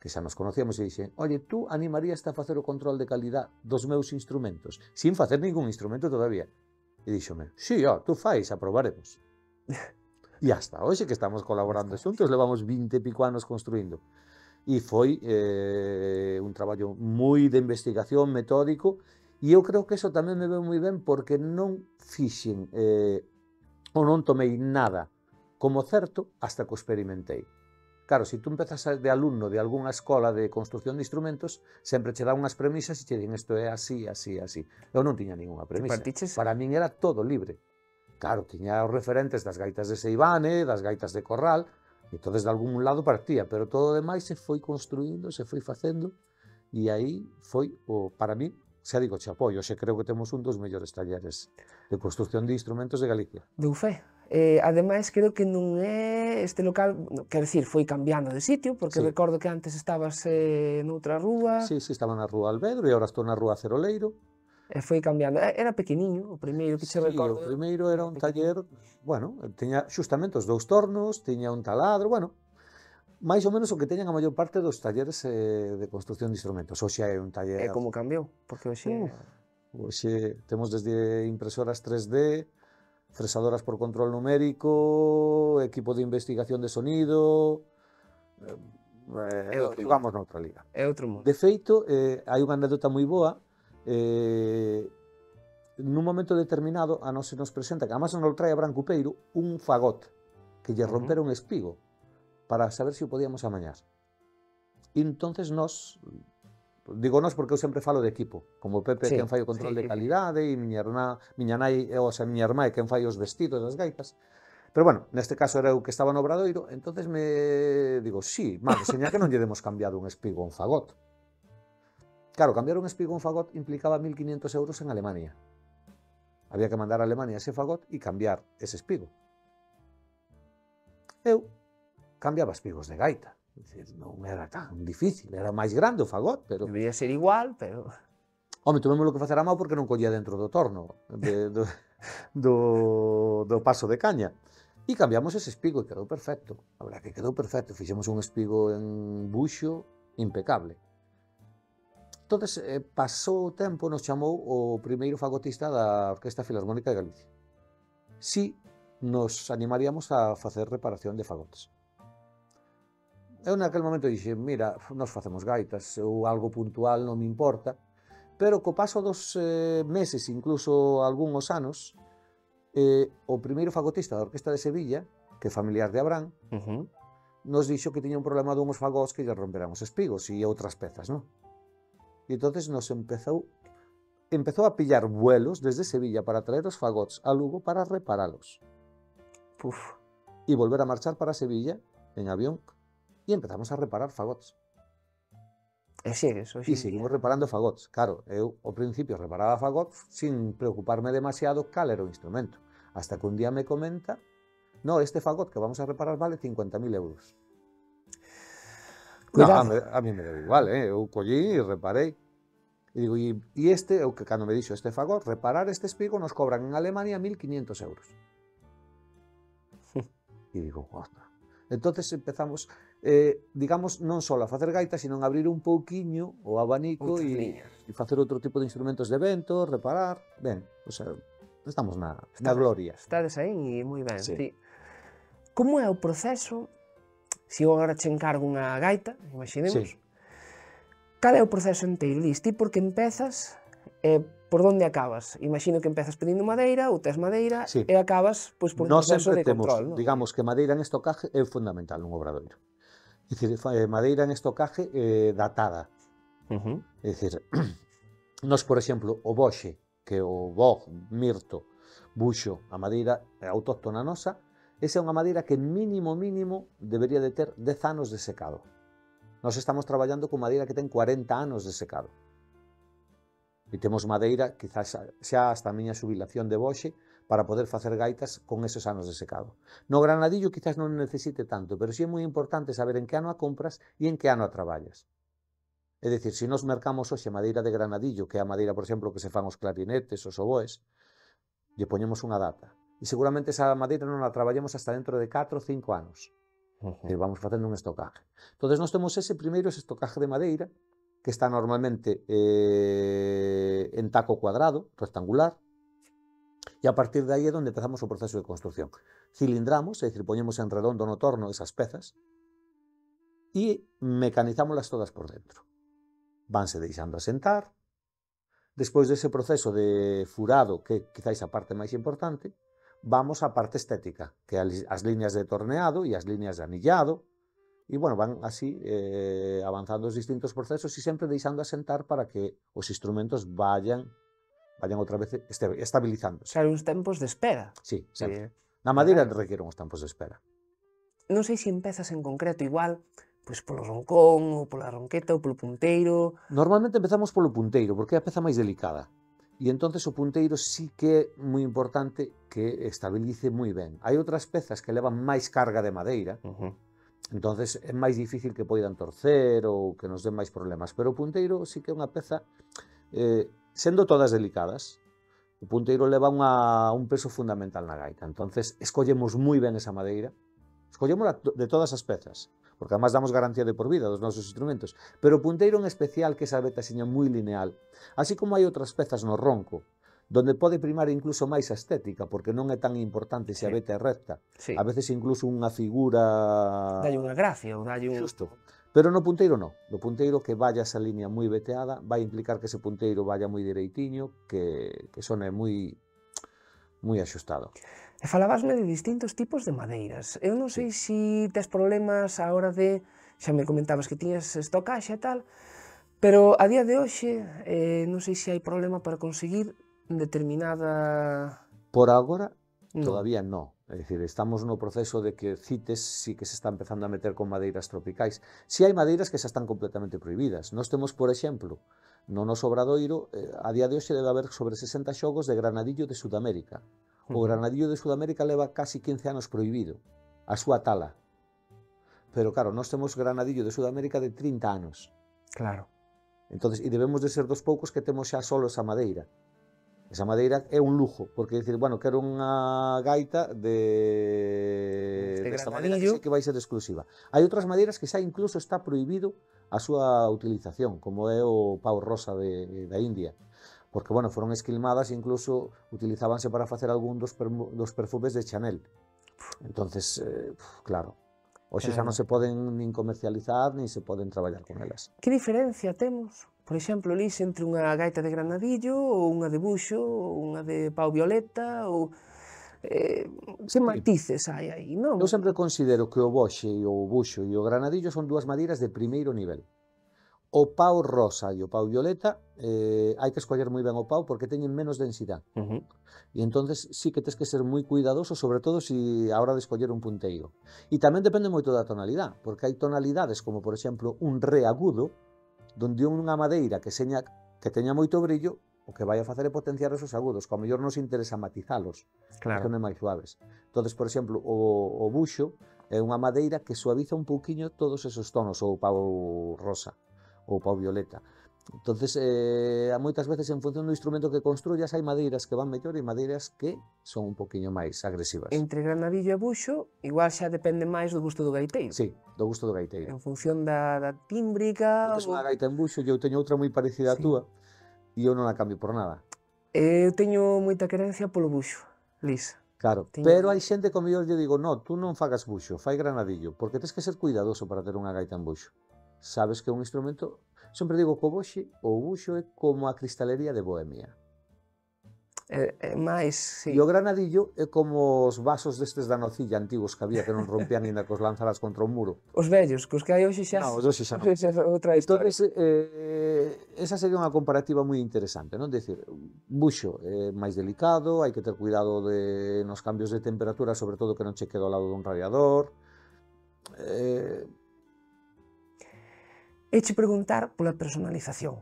que xa nos conocíamos, e dixen, oye, tú animarías a facer o control de calidad dos meus instrumentos, sin facer ningún instrumento todavía. E díxome, sí, ó, tú fais, aprobaremos. E hasta hoxe que estamos colaborando xuntos, levamos vinte e pico anos construindo. E foi eh, un traballo moi de investigación, metódico, e eu creo que eso tamén me veu moi ben porque non fixen eh, ou non tomei nada como certo hasta que o experimentei. Claro, se tú empezas de alumno de algunha escola de construcción de instrumentos, sempre che dan unhas premisas e che din isto é así, así, así. Eu non tiña ninguna premisa. Para min era todo libre. Claro, tiña os referentes das gaitas de Seivane, das gaitas de Corral, e entonces de algún lado partía, pero todo o demais se foi construindo, se foi facendo, e aí foi, o, para mí, xa digo, che apoio, xe creo que temos un dos mellores talleres de construcción de instrumentos de Galicia. Dou fe. Eh, ademais, creo que non é este local, quero dicir, foi cambiando de sitio, porque sí. Recordo que antes estabas eh, noutra rúa. Sí, sí, estaba na rúa Alvedro e agora estou na rúa Ceroleiro. E foi cambiando. Era pequeniño, o primeiro que che sí, recordo. O primeiro era un taller, bueno, tiña xustamente os dous tornos, tiña un taladro, bueno, máis ou menos o que teñan a maior parte dos talleres eh, de construcción de instrumentos. Hoxe é un taller... E como cambiou? Porque hoxe... Uh, hoxe temos desde impresoras tres D, fresadoras por control numérico, equipo de investigación de sonido... Eh, eh, vamos noutra liga. É outro mundo. De feito, eh, hai unha anécdota moi boa. Eh, nun momento determinado, a nos se nos presenta, que además non trae a Branco Peiro, un fagot que lle rompera un espigo para saber se o podíamos amañar. E entonces nos, digo nos porque eu sempre falo de equipo, como Pepe sí, quen fai o control sí, de calidade e miña irmá, miña nai, o sea, miña irmá é quen fai os vestidos das gaitas. Pero bueno, neste caso era eu que estaba no Obradoiro, entonces me digo, sí, malo, seña que non lle demos cambiado un espigo a un fagot. Claro, cambiar un espigo a un fagot implicaba mil quinientos euros en Alemania. Había que mandar a Alemania ese fagot e cambiar ese espigo. Eu cambiaba espigos de gaita. Decir, non era tan difícil, era máis grande o fagot, pero... Debería ser igual, pero... Home, tuvémolo que facer a mão porque non collía dentro do torno, de, do, do, do paso de caña. E cambiamos ese espigo e quedou perfecto. A verdade que quedou perfecto. Fixemos un espigo en buxo impecable. Entón, eh, pasou o tempo, nos chamou o primeiro fagotista da Orquesta Filarmónica de Galicia. Si nos animaríamos a facer reparación de fagotes. Eu naquele momento dixe, mira, nos facemos gaitas, ou algo puntual non me importa, pero co paso dos eh, meses, incluso algúns anos, eh, o primeiro fagotista da Orquesta de Sevilla, que é familiar de Abrán, uh -huh. nos dixo que tiña un problema dunhos fagots que lle romperan os espigos e outras pezas, non? E entonces nos empezou, empezou a pillar vuelos desde Sevilla para traer os fagots a Lugo para reparalos. Puf. E volver a marchar para Sevilla en avión e empezamos a reparar fagots. E sigues, E seguimos reparando fagots. Claro, eu ao principio reparaba fagots sin preocuparme demasiado cal era o instrumento. Hasta que un día me comenta, no, este fagot que vamos a reparar vale cincuenta mil euros. No, a, a mí me deu igual, eh? Eu collí e reparei. E digo, e, e este, o que cando me dixo este fagot, reparar este espigo nos cobran en Alemania mil quinientos euros. E digo, ostras. Entonces empezamos, eh, digamos, non só a facer gaita, sino abrir un pouquiño o abanico e, e facer outro tipo de instrumentos de vento, reparar, ben, o sea, estamos na, na gloria. Estades aí moi ben, Sí. sí. Como é o proceso, se eu agora che encargo unha gaita, imaginemos, Sí. cal é o proceso enteiro? Dis, ti porque empezas, eh, por onde acabas? Imagino que empezas pedindo madeira, ou tes madeira, Sí. e acabas pois, por un Nós proceso sempre de temos, control, non? digamos que madeira en estocaje é fundamental nun obradoiro. É dicir, madeira en estocaje eh, datada. Uh -huh. É dicir, nós, por exemplo, o boxe, que é o boj, mirto, buxo, a madeira autóctona nosa, esa é unha madeira que mínimo, mínimo, debería de ter dez anos de secado. Nós estamos traballando con madeira que ten cuarenta anos de secado. E temos madeira, quizás xa hasta a miña xubilación de boxe, para poder facer gaitas con esos anos de secado. No granadillo quizás non necesite tanto, pero sí é moi importante saber en que ano a compras e en que ano a traballas. É dicir, se nos mercamos hoxe madeira de granadillo, que é a madeira, por exemplo, que se fan os clarinetes, os oboes, lle poñemos unha data. E seguramente esa madeira non a traballemos hasta dentro de catro ou cinco anos. Uh -huh. E vamos facendo un estocaje. Entón, nós temos ese primeiro ese estocaje de madeira, que está normalmente eh, en taco cuadrado, rectangular, e a partir de aí é onde empezamos o proceso de construcción. Cilindramos, é dicir, poñemos en redondo no torno esas pezas e mecanizámolas todas por dentro. Vanse deixando asentar. Despois dese proceso de furado, que quizáis a parte máis importante, vamos á parte estética, que é as líneas de torneado e as líneas de anillado, e, bueno, van así eh, avanzando os distintos procesos e sempre deixando asentar para que os instrumentos vayan vayan outra vez estabilizándose. Claro, uns tempos de espera. Sí, sempre. Sí. Na madeira requiere uns tempos de espera. Non sei se empezas en concreto igual, pois polo roncón, ou pola ronqueta, ou polo punteiro... Normalmente empezamos polo punteiro, porque é a peza máis delicada. E entonces o punteiro sí que é moi importante que estabilice moi ben. Hai outras pezas que levan máis carga de madeira, uh -huh. Entonces é máis difícil que poidan torcer ou que nos den máis problemas. Pero o punteiro sí que é unha peza... Eh, sendo todas delicadas, o punteiro leva unha, un peso fundamental na gaita. Entonces, escollemos moi ben esa madeira, escollémola de todas as pezas, porque además damos garantía de por vida dos nosos instrumentos, pero o punteiro en especial, que esa veta seña moi lineal, así como hai outras pezas no ronco, donde pode primar incluso máis a estética, porque non é tan importante se a veta é recta. Sí. A veces incluso unha figura... Dalle unha gracia, ou dalle un... Xusto. Pero no punteiro non. No punteiro que vaya esa línea moi veteada vai implicar que ese punteiro vaya moi direitiño, que, que sone moi moi axustado. E falabasme de distintos tipos de madeiras. Eu non sei se si tes problemas a hora de... Xa me comentabas que tiñas estocaxe e tal, pero a día de hoxe eh, non sei se hai problema para conseguir determinada... Por agora, no. Todavía non. É dicir, estamos no proceso de que CITES sí que se está empezando a meter con madeiras tropicais. Si hai madeiras que xa están completamente prohibidas. Nós temos, por exemplo, no noso obradoiro, eh, a día de hoxe debe haber sobre sesenta xogos de granadillo de Sudamérica. O granadillo de Sudamérica leva casi quince anos prohibido, a súa tala. Pero claro, nós temos granadillo de Sudamérica de trinta anos. Claro. Entonces, e debemos de ser dos poucos que temos xa solo esa madeira. Esa madeira é un lujo, porque decir, bueno, quero unha gaita de desta madeira que sei que vai ser exclusiva. Hai outras madeiras que xa incluso está prohibido a súa utilización, como é o pau rosa de, da India, porque, bueno, foron esquilmadas e incluso utilizábanse para facer algún dos, dos perfumes de Chanel. Entonces, eh, claro, hoxe xa non se poden nin comercializar, nin se poden traballar con elas. Que diferencia temos? Por exemplo, Lis, entre unha gaita de granadillo, ou unha de buxo, ou unha de pau violeta, ou... Eh, que matices hai aí, non? Eu sempre considero que o boxe, o buxo e o granadillo son dúas madeiras de primeiro nivel. O pau rosa e o pau violeta, eh, hai que escoller moi ben o pau porque teñen menos densidade. Uh -huh. E entonces sí que tens que ser moi cuidadoso, sobre todo si a hora de escoller un punteiro. E tamén depende moito da tonalidade, porque hai tonalidades como, por exemplo, un re agudo, donde unha madeira que seña que teña moito brillo, o que vai a facer é potenciar esos agudos, que ao mellor nos interesa matizalos, claro, que son máis suaves. Entonces, por exemplo, o, o buxo é unha madeira que suaviza un pouquiño todos esos tonos, ou o pau rosa, ou o pau violeta. Entonces, eh, moitas veces en función do instrumento que construyas hai madeiras que van mellor e madeiras que son un poquinho máis agresivas. Entre granadillo e buxo, igual xa depende máis do gusto do gaiteiro. Sí, do gusto do gaiteiro. En función da, da tímbrica... Tes unha gaita en buxo e eu teño outra moi parecida á Sí. túa e eu non a cambio por nada. Eu teño moita querencia polo buxo, Lis. Claro, Teño- pero hai xente que ao mellor lle digo, no, tú non fagas buxo, fai granadillo, porque tes que ser cuidadoso para ter unha gaita en buxo. Sabes que é un instrumento, sempre digo que o buxe, o buxo é como a cristalería de Bohemia. É, é máis, sí. E o granadillo é como os vasos destes da nocilla antigos que había que non rompían ainda cos lanzaras contra un muro. Os vellos, cos que hai hoxe xa... No, os hoxe xa non. Xa é outra historia. Entonces, eh, esa sería unha comparativa moi interesante, non? Decir, buxo é máis delicado, hai que ter cuidado de, nos cambios de temperatura, sobre todo que non che quede ao lado dun radiador. Eh, Eche preguntar pola personalización,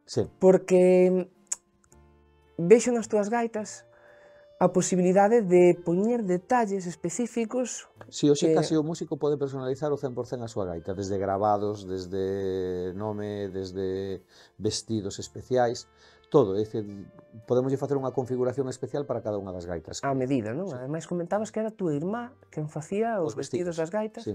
sí, porque vexo nas túas gaitas a posibilidade de poñer detalles específicos. si hoxe que- casi o músico pode personalizar o cen por cen a súa gaita, desde gravados, desde nome, desde vestidos especiais, todo, é dicir, podemos facer unha configuración especial para cada unha das gaitas. A medida, non? Ademais comentabas que era a túa irmá quen facía os, Os vestidos das gaitas, Sí.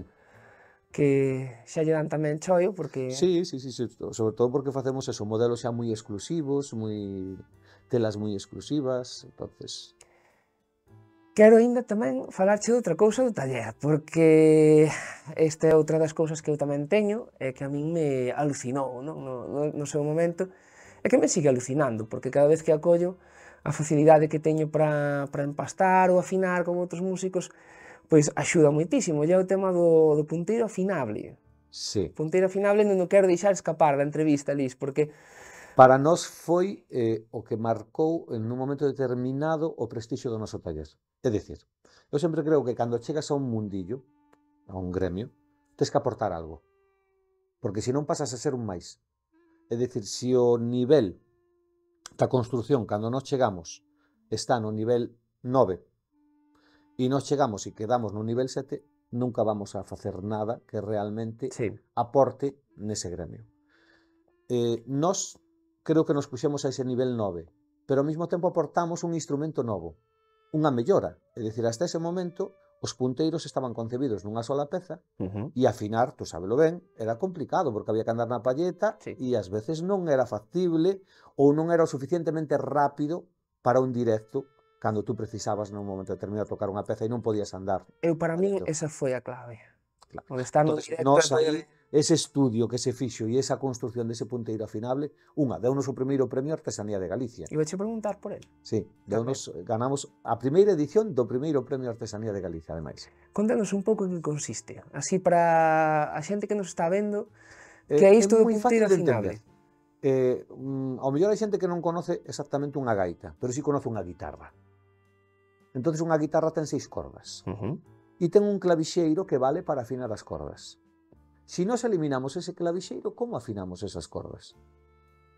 que xa lle dan tamén choio, porque... Sí, sí, sí, sí, sobre todo porque facemos eso, modelos xa moi exclusivos, moi telas moi exclusivas, entonces... Quero aínda tamén falarche de outra cousa do taller, porque esta é outra das cousas que eu tamén teño, e que a min me alucinou, non? No, no, no seu momento, e que me sigue alucinando, porque cada vez que acollo a facilidade que teño para, para empastar ou afinar con outros músicos, pois axuda moitísimo, e é o tema do, do punteiro afinable. Sí. Punteiro afinable non o quero deixar escapar da entrevista, Lis, porque Para nós foi eh, o que marcou en un momento determinado o prestixio do noso taller. É dicir, eu sempre creo que cando chegas a un mundillo, a un gremio, tes que aportar algo. Porque se non pasas a ser un máis. É dicir, se o nivel da construción, cando nós chegamos, está no nivel nove, e nós chegamos e quedamos no nivel sete, nunca vamos a facer nada que realmente sí, aporte nese gremio. Eh, nós creo que nos puxemos a ese nivel nove, pero ao mesmo tempo aportamos un instrumento novo, unha mellora. É dicir, hasta ese momento, os punteiros estaban concebidos nunha sola peza, uh-huh. e afinar, tú sábelo ben, era complicado, porque había que andar na palleta, Sí. e ás veces non era factible, ou non era o suficientemente rápido para un directo, cando tú precisabas nun momento determinado tocar unha peza e non podías andar. Eu para min Correcto. esa foi a clave. Claro. O de estar no Entonces, directo nós e poder- aí, ese estudio que se fixo e esa construción dese punteiro afinable, unha, deunos o primeiro premio Artesanía de Galicia. Iba a preguntar por el. Sí, deunos, ganamos a primeira edición do primeiro premio Artesanía de Galicia, ademais. Contanos un pouco en que consiste, así para a xente que nos está vendo, Eh, que é isto do moi punteiro fácil de afinable. entender. Eh, mm, ao mellor hai xente que non conoce exactamente unha gaita, pero sí conoce unha guitarra. Entonces unha guitarra ten seis cordas Uh-huh. e ten un clavixeiro que vale para afinar as cordas. Si nós eliminamos ese clavixeiro, como afinamos esas cordas?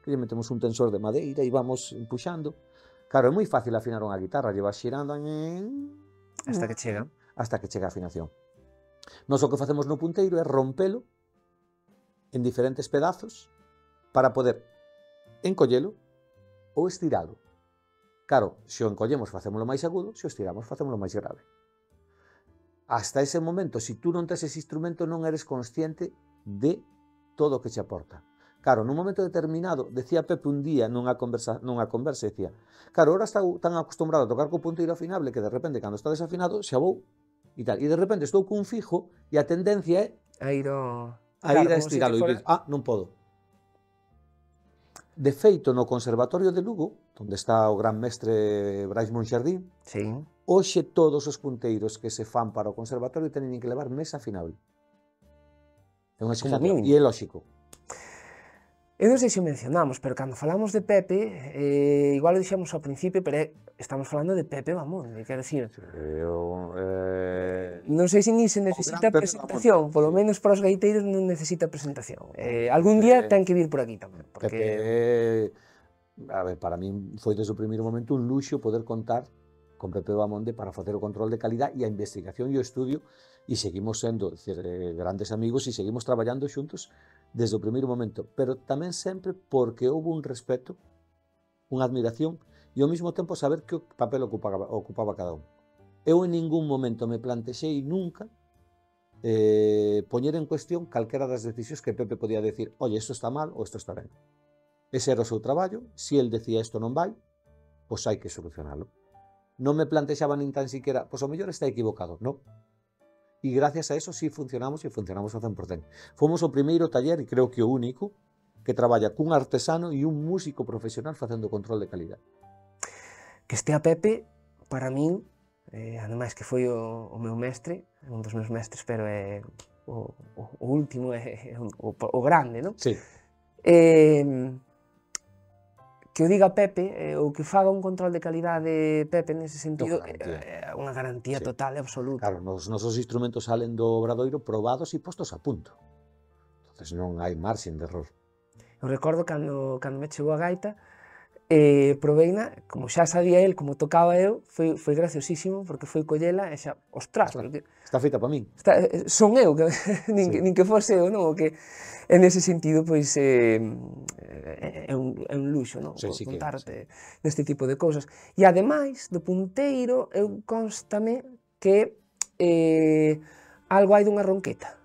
Que lle metemos un tensor de madeira e vamos empuxando. Claro, é moi fácil afinar unha guitarra, lle vas xirando Hasta que chega. hasta que chega a afinación. Nós o que facemos no punteiro é rompelo en diferentes pedazos para poder encollelo ou estiralo. Claro, se o encollemos facémolo máis agudo, se o estiramos facémolo máis grave. Hasta ese momento, se tú non tes ese instrumento, non eres consciente de todo o que che aporta. Claro, nun momento determinado, decía Pepe un día nunha conversa, nunha conversa, decía, claro, ahora está tan acostumbrado a tocar co punteiro afinable que de repente, cando está desafinado, xa vou e tal. E de repente estou cun fijo e a tendencia é A ir ao... a ir a estiralo e dices, ah, non podo. De feito, no Conservatorio de Lugo, onde está o gran mestre Brais Monxardín, Sí. hoxe todos os punteiros que se fan para o conservatorio teñen que levar mesa afinable. É unha exigencia, mínimo. e é lógico. Eu non sei se o mencionamos, pero cando falamos de Pepe, eh, igual o dixemos ao principio, pero é, estamos falando de Pepe Bamonde, quero dicir, Eu, eh... non sei se ni se necesita gran Pepe presentación, Bamonde, polo sí. menos para os gaiteiros non necesita presentación. Eh, algún día ten que vir por aquí tamén, porque... Pepe, a ver, para min foi desde o primeiro momento un luxo poder contar con Pepe Bamonde para facer o control de calidad e a investigación e o estudio, e seguimos sendo decir, eh, grandes amigos e seguimos traballando xuntos desde o primeiro momento, pero tamén sempre porque houve un respeto, unha admiración e ao mesmo tempo saber que papel ocupaba, ocupaba cada un. Eu en ningún momento me plantexei nunca eh, poñer en cuestión calquera das decisións que Pepe podía decir, oye, isto está mal ou isto está ben. Ese era o seu traballo, se el decía isto non vai, pois hai que solucionalo. Non me plantexaba nin tan siquiera, pois o mellor está equivocado, non. E gracias a eso sí funcionamos e funcionamos ao cen por cen. Fomos o primeiro taller, e creo que o único, que traballa cun artesano e un músico profesional facendo control de calidad. Que estea Pepe, para min, eh, ademais que foi o, o meu mestre, un dos meus mestres, pero é o, o, o último, é, é o, o grande, non? Sí. Eh, que o diga Pepe, eh, ou que faga un control de calidade Pepe nese sentido, é unha garantía sí. total e absoluta. Claro, nos nosos instrumentos salen do obradoiro probados e postos a punto. Entonces non hai marxen de error. Eu recordo cando, cando me chegou a gaita, eh, proveina, como xa sabía el como tocaba eu, foi, foi graciosísimo, porque foi collela e xa, ostras, porque está feita para min. Está, son eu, que, nin, sí. que, nin que fose eu, non? O que, en ese sentido, pois, eh, é, un, é un luxo, non? Sí, sí contarte que, sí. deste tipo de cousas. E ademais, do punteiro, eu constame que eh, algo hai dunha ronqueta.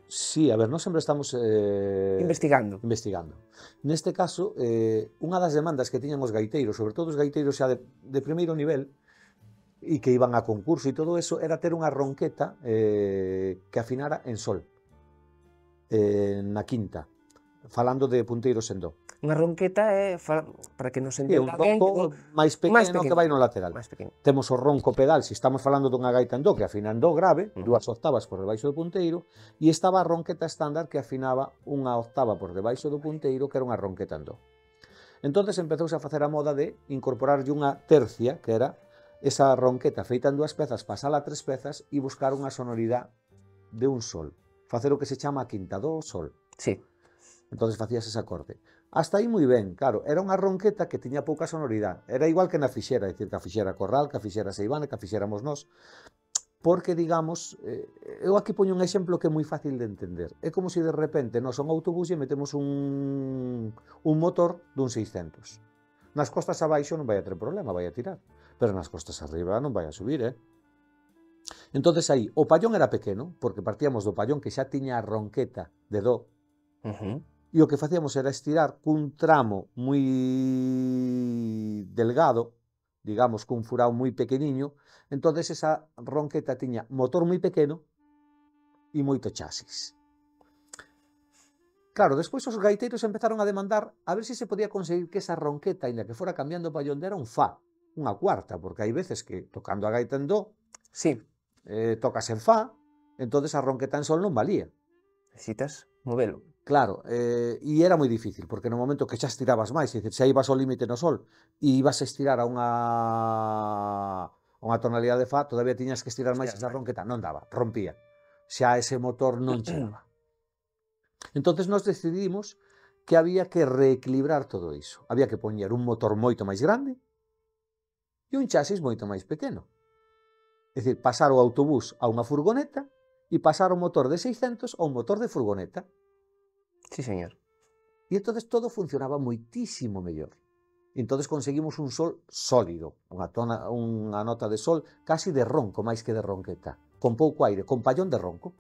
Sí, a ver, nós sempre estamos eh, investigando. investigando. Neste caso, eh, unha das demandas que tiñan os gaiteiros, sobre todo os gaiteiros xa de, de primeiro nivel, e que iban a concurso e todo eso, era ter unha ronqueta eh, que afinara en sol, eh, na quinta, falando de punteiros en do. Unha ronqueta é, para que nos é entenda un ronco máis pequeno, máis pequeno que vai no lateral. Temos o ronco pedal, se estamos falando dunha gaita en do, que afina en do grave, uh -huh. dúas octavas por debaixo do punteiro, e estaba a ronqueta estándar que afinaba unha octava por debaixo do punteiro, que era unha ronqueta en do. Entonces empezouse a facer a moda de incorporarlle unha tercia, que era esa ronqueta feita en dúas pezas, pasala a tres pezas e buscar unha sonoridade de un sol. Facer o que se chama a quinta, do, sol. Sí. Entonces facías ese acorde. Hasta aí moi ben, claro, era unha ronqueta que tiña pouca sonoridade. Era igual que na fixera, é dicir, que a fixera Corral, que a fixera Seivane, que a fixéramos nós. Porque, digamos, eh, eu aquí poño un exemplo que é moi fácil de entender. É como se de repente nós a un autobús e metemos un, un motor dun seiscentos. Nas costas abaixo non vai a ter problema, vai a tirar. Pero nas costas arriba non vai a subir, eh? Entonces aí, o pallón era pequeno, porque partíamos do pallón que xa tiña a ronqueta de do, uh -huh. e o que facíamos era estirar cun tramo moi delgado, digamos, cun furado moi pequeniño, entonces esa ronqueta tiña motor moi pequeno e moito chasis. Claro, despois os gaiteiros empezaron a demandar a ver se se podía conseguir que esa ronqueta, ainda que fora cambiando o pallón, era un fa, unha cuarta, porque hai veces que tocando a gaita en do, sí. eh, tocas en fa, entonces a ronqueta en sol non valía. Necesitas movelo. Claro, eh, e era moi difícil, porque no momento que xa estirabas máis, é dicir, xa ibas ao límite no sol e ibas a estirar a unha, a unha tonalidade de fa, todavía tiñas que estirar máis esa ronqueta, non daba, rompía. Xa ese motor non chegaba. Entonces nós decidimos que había que reequilibrar todo iso. Había que poñer un motor moito máis grande e un chasis moito máis pequeno. É dicir, pasar o autobús a unha furgoneta e pasar o motor de seiscentos a un motor de furgoneta. Sí, señor. E entonces todo funcionaba moitísimo mellor. E entonces conseguimos un sol sólido, unha, tona, unha nota de sol casi de ronco, máis que de ronqueta, con pouco aire, con pallón de ronco.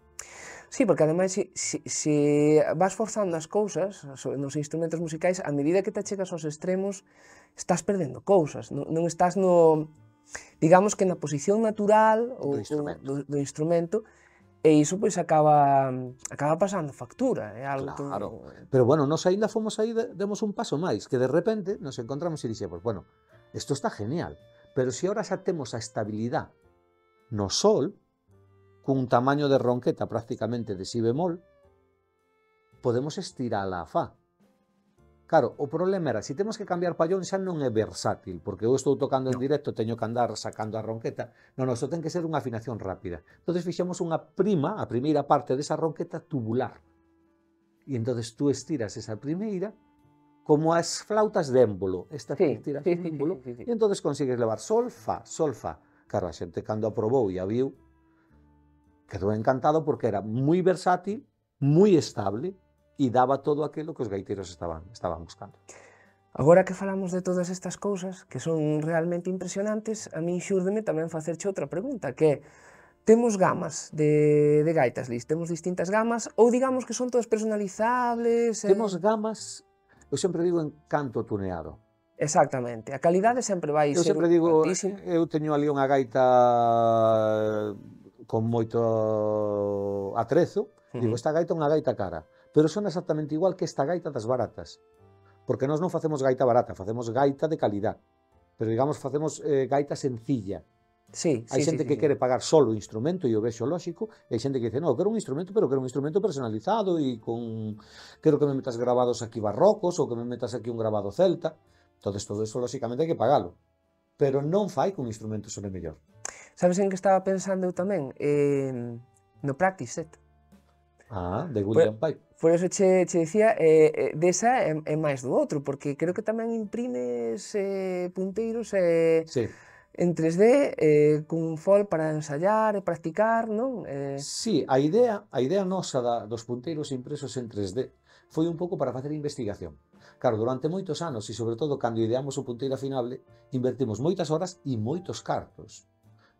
Sí, porque ademais, se, se, se vas forzando as cousas nos instrumentos musicais, a medida que te chegas aos extremos, estás perdendo cousas, non, non estás no, digamos que na posición natural do instrumento, do, do instrumento, e iso pois acaba acaba pasando factura, é algo claro. que... Pero bueno, nos ainda fomos aí, demos un paso máis, que de repente nos encontramos e dixemos, bueno, isto está genial, pero se ahora xa temos a estabilidade no sol, cun tamaño de ronqueta prácticamente de si bemol, podemos estirala a fa. Claro, o problema era, se temos que cambiar pallón xa non é versátil, porque eu estou tocando en directo, teño que andar sacando a ronqueta, non, non, isto ten que ser unha afinación rápida. Entón fixemos unha prima, a primeira parte desa ronqueta tubular, e entón tú estiras esa primeira como as flautas de émbolo, esta sí, tiras sí, un sí, émbolo, sí, sí, sí. e entón consigues levar sol, fa, sol, fa. Claro, a xente cando aprobou e a viu, quedou encantado porque era moi versátil, moi estable, e daba todo aquilo que os gaiteiros estaban, estaban buscando. Agora que falamos de todas estas cousas, que son realmente impresionantes, a min xúrdeme tamén facerche outra pregunta, que é, temos gamas de, de gaitas, Lis, temos distintas gamas, ou digamos que son todas personalizables? Eh... Temos gamas, eu sempre digo, en canto tuneado. Exactamente, a calidade sempre vai eu ser sempre digo, altísima. Eu teño ali unha gaita con moito atrezo, uh-huh. Digo, esta gaita é unha gaita cara, pero son exactamente igual que esta gaita das baratas. Porque nós non facemos gaita barata, facemos gaita de calidad. Pero, digamos, facemos eh, gaita sencilla. Sí, hai sí, xente sí, que sí, quere sí. pagar solo o instrumento, e o vexo lóxico, e hai xente que dice, no, quero un instrumento, pero quero un instrumento personalizado, e con... quero que me metas grabados aquí barrocos, ou que me metas aquí un grabado celta. Entonces, todo eso, lóxicamente, hai que pagalo. Pero non fai que un instrumento sone mellor. Sabes en que estaba pensando eu tamén? Eh, no practice set. Ah, de William Pipe. Por eso che, che decía, eh, desa é, é máis do outro, porque creo que tamén imprimes eh, punteiros eh, sí. en tres D, eh, cun fol para ensayar e practicar, non? Eh... Sí, a idea, a idea nosa da, dos punteiros impresos en tres D foi un pouco para facer investigación. Claro, durante moitos anos, e sobre todo cando ideamos o punteiro afinable, invertimos moitas horas e moitos cartos.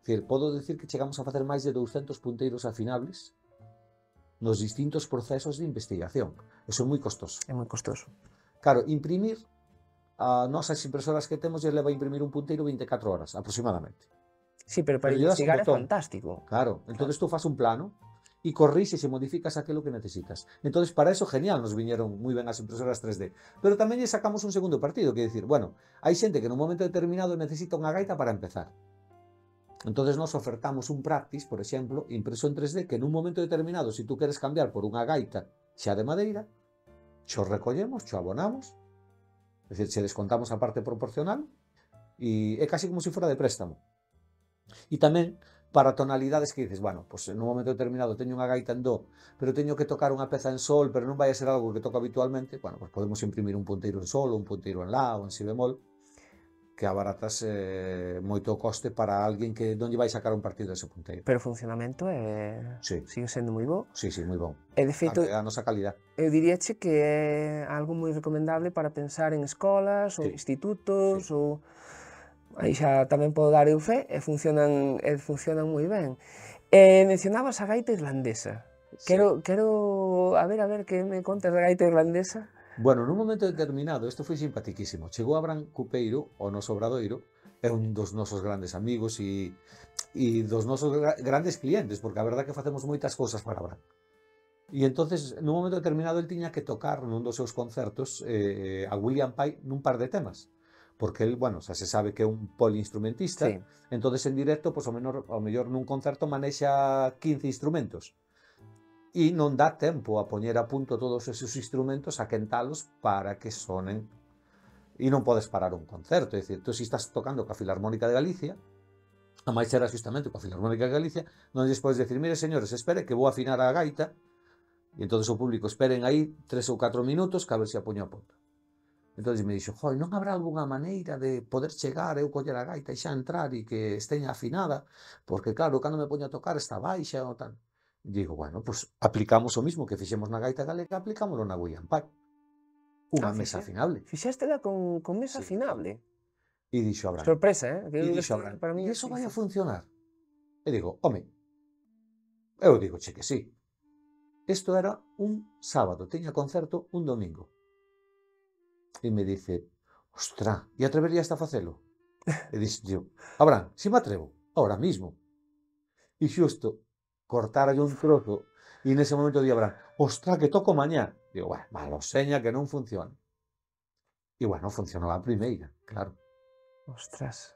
É dicir, podo dicir que chegamos a facer máis de douscentos punteiros afinables nos distintos procesos de investigación. Eso é moi costoso. É moi costoso. Claro, imprimir, a nosas impresoras que temos, lle leva a imprimir un punteiro veinticuatro horas, aproximadamente. Sí, pero para pero investigar é fantástico. Claro, entonces claro. Tú fas un plano e corrixes e modificas aquilo que necesitas. Entonces, para eso, genial, nos viñeron moi ben as impresoras tres D. Pero tamén lle sacamos un segundo partido, que é dicir, bueno, hai xente que nun momento determinado necesita unha gaita para empezar. Entonces nos ofertamos un practice, por exemplo, impreso en tres D, que nun momento determinado, se si tú queres cambiar por unha gaita xa de madeira, xo recollemos, xo abonamos, é dicir, xe descontamos a parte proporcional, e é casi como se fora de préstamo. E tamén para tonalidades que dices, bueno, pues nun momento determinado teño unha gaita en do, pero teño que tocar unha peza en sol, pero non vai a ser algo que toco habitualmente, bueno, pues podemos imprimir un punteiro en sol, ou un punteiro en la, ou en si bemol, que abaratas eh, moito o coste para alguén que non lle vai sacar un partido dese punteiro. Pero o funcionamento é... sí. sigue sendo moi bo. Sí, sí, moi bon. E de feito, a, a nosa calidad. Eu diríache que é algo moi recomendable para pensar en escolas ou sí. institutos, sí. ou... aí xa tamén podo dar eu fe, e funcionan, e funcionan moi ben. E mencionabas a gaita irlandesa. Sí. Quero, quero... A ver, a ver, que me contas da gaita irlandesa? Bueno, nun momento determinado, isto foi simpatiquísimo. Chegou Abraham Cupeiro, o noso obradoiro, é un dos nosos grandes amigos e, e dos nosos gra grandes clientes, porque a verdade é que facemos moitas cousas para Abraham. E entonces, nun momento determinado, el tiña que tocar nun dos seus concertos eh, a William Pipe nun par de temas. Porque el, bueno, xa se sabe que é un poliinstrumentista, sí. Entonces en directo, pues, ao, menor, ao mellor nun concerto manexa quince instrumentos. E non dá tempo a poñer a punto todos esos instrumentos, a quentalos para que sonen. E non podes parar un concerto, é dicir, tú se estás tocando coa Filarmónica de Galicia, a máis era justamente coa Filarmónica de Galicia, non lles podes decir, mire señores, espere que vou afinar a gaita, e entonces o público esperen aí tres ou catro minutos que a ver se a poño a punto. Entonces me dixo, joi, non habrá algunha maneira de poder chegar, eu coller a gaita e xa entrar e que esteña afinada, porque claro, cando me poño a tocar está baixa ou tal. Digo, bueno, pues aplicamos o mismo que fixemos na gaita galega, aplicámoslo na William Pipe. Unha ah, mesa afinable. Fixéstela con, con mesa sí. afinable? E dixo Abraham. Sorpresa, eh? E dixo Abraham, para mí e iso vai a funcionar? E digo, home, eu digo, che que sí. Isto era un sábado, teña concerto un domingo. E me dice, ostra, e atreverías a facelo? E dixo, yo, Abraham, si me atrevo, ahora mismo. E xusto, cortara un trozo, e nese momento di Abraham, ostra, que toco mañá. Digo, bueno, malo seña que non funciona. E bueno, funcionou a primeira, claro. Ostras.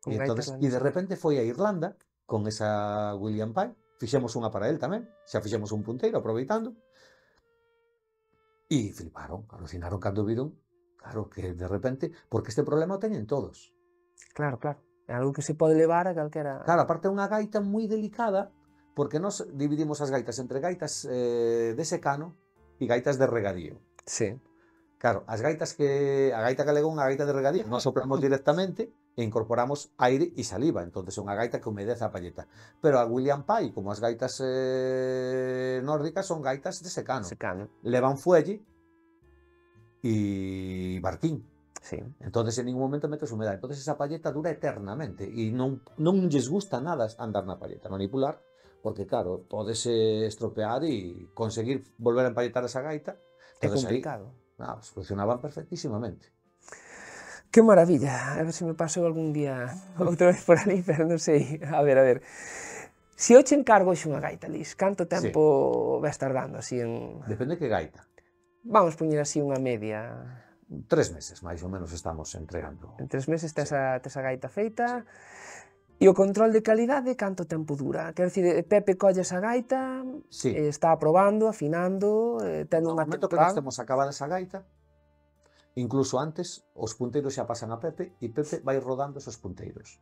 E, entonces, e de repente foi a Irlanda, con esa William Pipe, fixemos unha para él tamén, xa fixemos un punteiro, aproveitando, e fliparon, alucinaron cando viron, claro, que de repente, porque este problema o teñen todos. Claro, claro, é algo que se pode levar a calquera... Claro, aparte é unha gaita moi delicada, porque nos dividimos as gaitas entre gaitas eh, de secano e gaitas de regadío. Sí. Claro, as gaitas que a gaita galega é unha gaita de regadío, nós sopramos directamente e incorporamos aire e saliva, entonces é unha gaita que humedece a palleta. Pero a William Pye, como as gaitas eh, nórdicas, son gaitas de secano. Secano. Levan fuelle e barquín. Sí. Entonces en ningún momento metes humedade. Entonces esa palleta dura eternamente e non, non lles gusta nada andar na palleta, manipular, porque claro, podese estropear e conseguir volver a empalletar esa gaita. É Entonces, complicado. Aí, ah, pues funcionaban perfectísimamente. Que maravilla, a ver se me paso algún día outra vez por ali, pero non sei, a ver, a ver. Se eu che encargo xe unha gaita, Lis, canto tempo sí. vais tardando así en... Depende que gaita. Vamos poñer así unha media... Tres meses, máis ou menos, estamos entregando. En tres meses tes, sí. a, tes a gaita feita, e o control de calidade canto tempo dura? Quero dicir, Pepe colle esa gaita, sí. eh, está probando, afinando, eh, ten unha temporada... No momento que nós temos acabada esa gaita, incluso antes, os punteiros xa pasan a Pepe e Pepe vai rodando esos punteiros.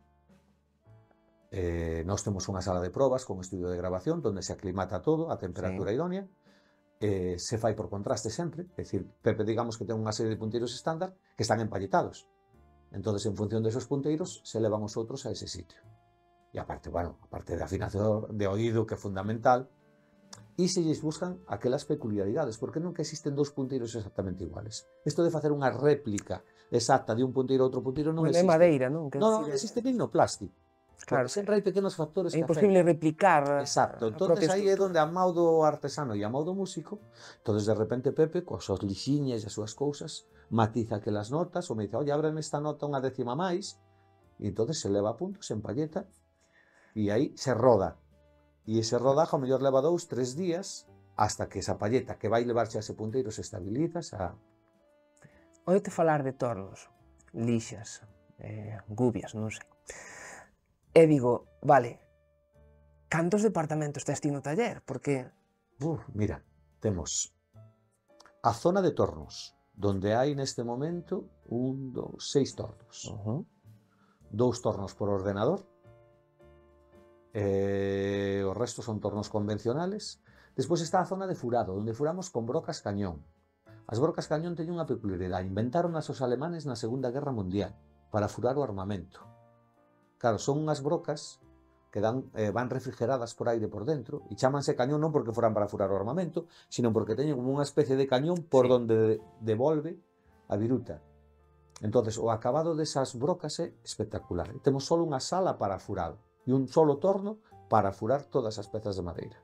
Eh, nós temos unha sala de probas con estudio de grabación onde se aclimata todo a temperatura sí. idónea, eh, se fai por contraste sempre, é dicir, Pepe digamos que ten unha serie de punteiros estándar que están empalletados. Entonces, en función desos punteiros, se levan os outros a ese sitio. E aparte, bueno, aparte de afinación de oído, que é fundamental, e se lles buscan aquelas peculiaridades, porque nunca existen dous punteiros exactamente iguales. Isto de facer unha réplica exacta de un punteiro a outro punteiro non existe. É madeira, non? Que non, non existe nin no plástico. Claro, sempre hai pequenos factores é que imposible afectan. replicar. Exacto, entonces aí é onde a mão do artesano e a mão do músico, entonces de repente Pepe, coas súas lixiñas e as súas cousas, matiza aquelas notas, ou me dice, oye, ábreme esta nota unha décima máis, e entonces se leva a punto, se empalleta, e aí se roda. E ese rodaje ao mellor leva dous, tres días hasta que esa palleta que vai levarche a ese punteiro se estabiliza. Xa... Oito falar de tornos, lixas, eh, gubias, non sei. E digo, vale, cantos departamentos tes ti no taller? Porque... Uf, mira, temos a zona de tornos, donde hai neste momento un, dos, seis tornos. Uh-huh. Dous tornos por ordenador, Eh, o resto son tornos convencionales. Despois está a zona de furado, onde furamos con brocas cañón. As brocas cañón teñen unha peculiaridade, inventaron as os alemanes na Segunda Guerra Mundial para furar o armamento. Claro, son unhas brocas que dan, eh, van refrigeradas por aire por dentro e chámanse cañón non porque foran para furar o armamento, sino porque teñen como unha especie de cañón por sí. donde devolve a viruta. Entonces, o acabado desas brocas é espectacular. Temos só unha sala para furado e un solo torno para furar todas as pezas de madeira,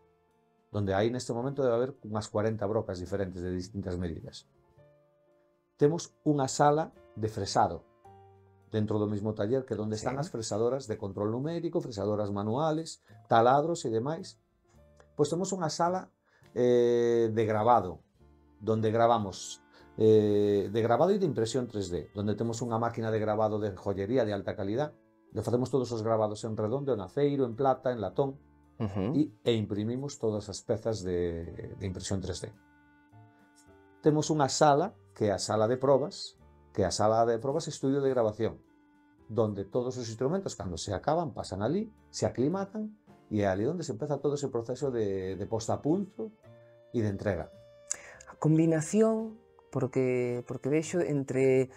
donde aí neste momento debe haber unhas cuarenta brocas diferentes de distintas medidas. Temos unha sala de fresado dentro do mesmo taller, que é onde están sí. as fresadoras de control numérico, fresadoras manuales, taladros e demais. Pois temos unha sala eh, de grabado, donde gravamos eh, de grabado e de impresión tres D, donde temos unha máquina de grabado de joyería de alta calidad, le facemos todos os grabados en redondo, en aceiro, en plata, en latón, uh-huh. e, e imprimimos todas as pezas de, de impresión tres D. Temos unha sala, que é a sala de probas, que é a sala de probas estudio de grabación, donde todos os instrumentos, cando se acaban, pasan ali, se aclimatan, e é ali onde se empeza todo ese proceso de, de posta a punto e de entrega. A combinación, porque, porque vexo entre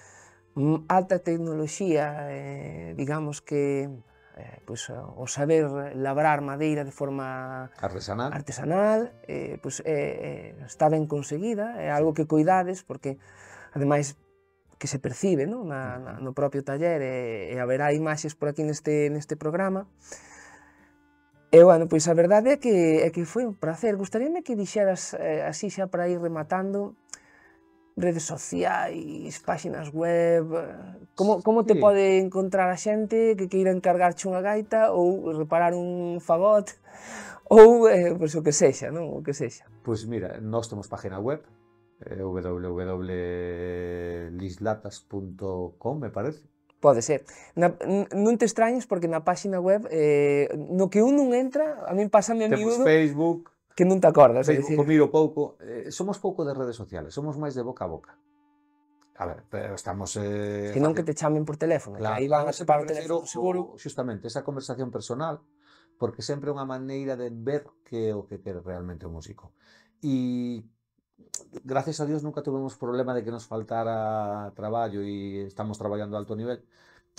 alta tecnoloxía, eh, digamos que eh, pues, o saber labrar madeira de forma artesanal, artesanal eh, pues, eh, está ben conseguida, é algo que cuidades, porque ademais que se percibe, ¿no? Na, na, no propio taller, e, e haberá imaxes por aquí neste, neste programa. E, bueno, pois a verdade é que, é que foi un placer. Gustaríame que dixeras, eh, así xa para ir rematando, redes sociais, páxinas web, como, como te sí. pode encontrar a xente que queira encargarche unha gaita ou reparar un fagot ou eh, pois, o que sexa, non? O que sexa. Pois mira, nós temos página web, eh, w w w punto lislatas punto com, me parece. Pode ser. Na, non te extrañes porque na páxina web eh, no que un non entra, a min pásame a miúdo... Temos Facebook... Que non te acordas, é dicir... miro pouco, eh, somos pouco de redes sociales, somos máis de boca a boca. A ver, pero estamos... Eh, que non que te chamen por teléfono, claro, que aí van a separar o teléfono seguro. Justamente, esa conversación personal, porque sempre é unha maneira de ver que é o que quere realmente o músico. E gracias a Dios nunca tuvimos problema de que nos faltara traballo e estamos traballando a alto nivel.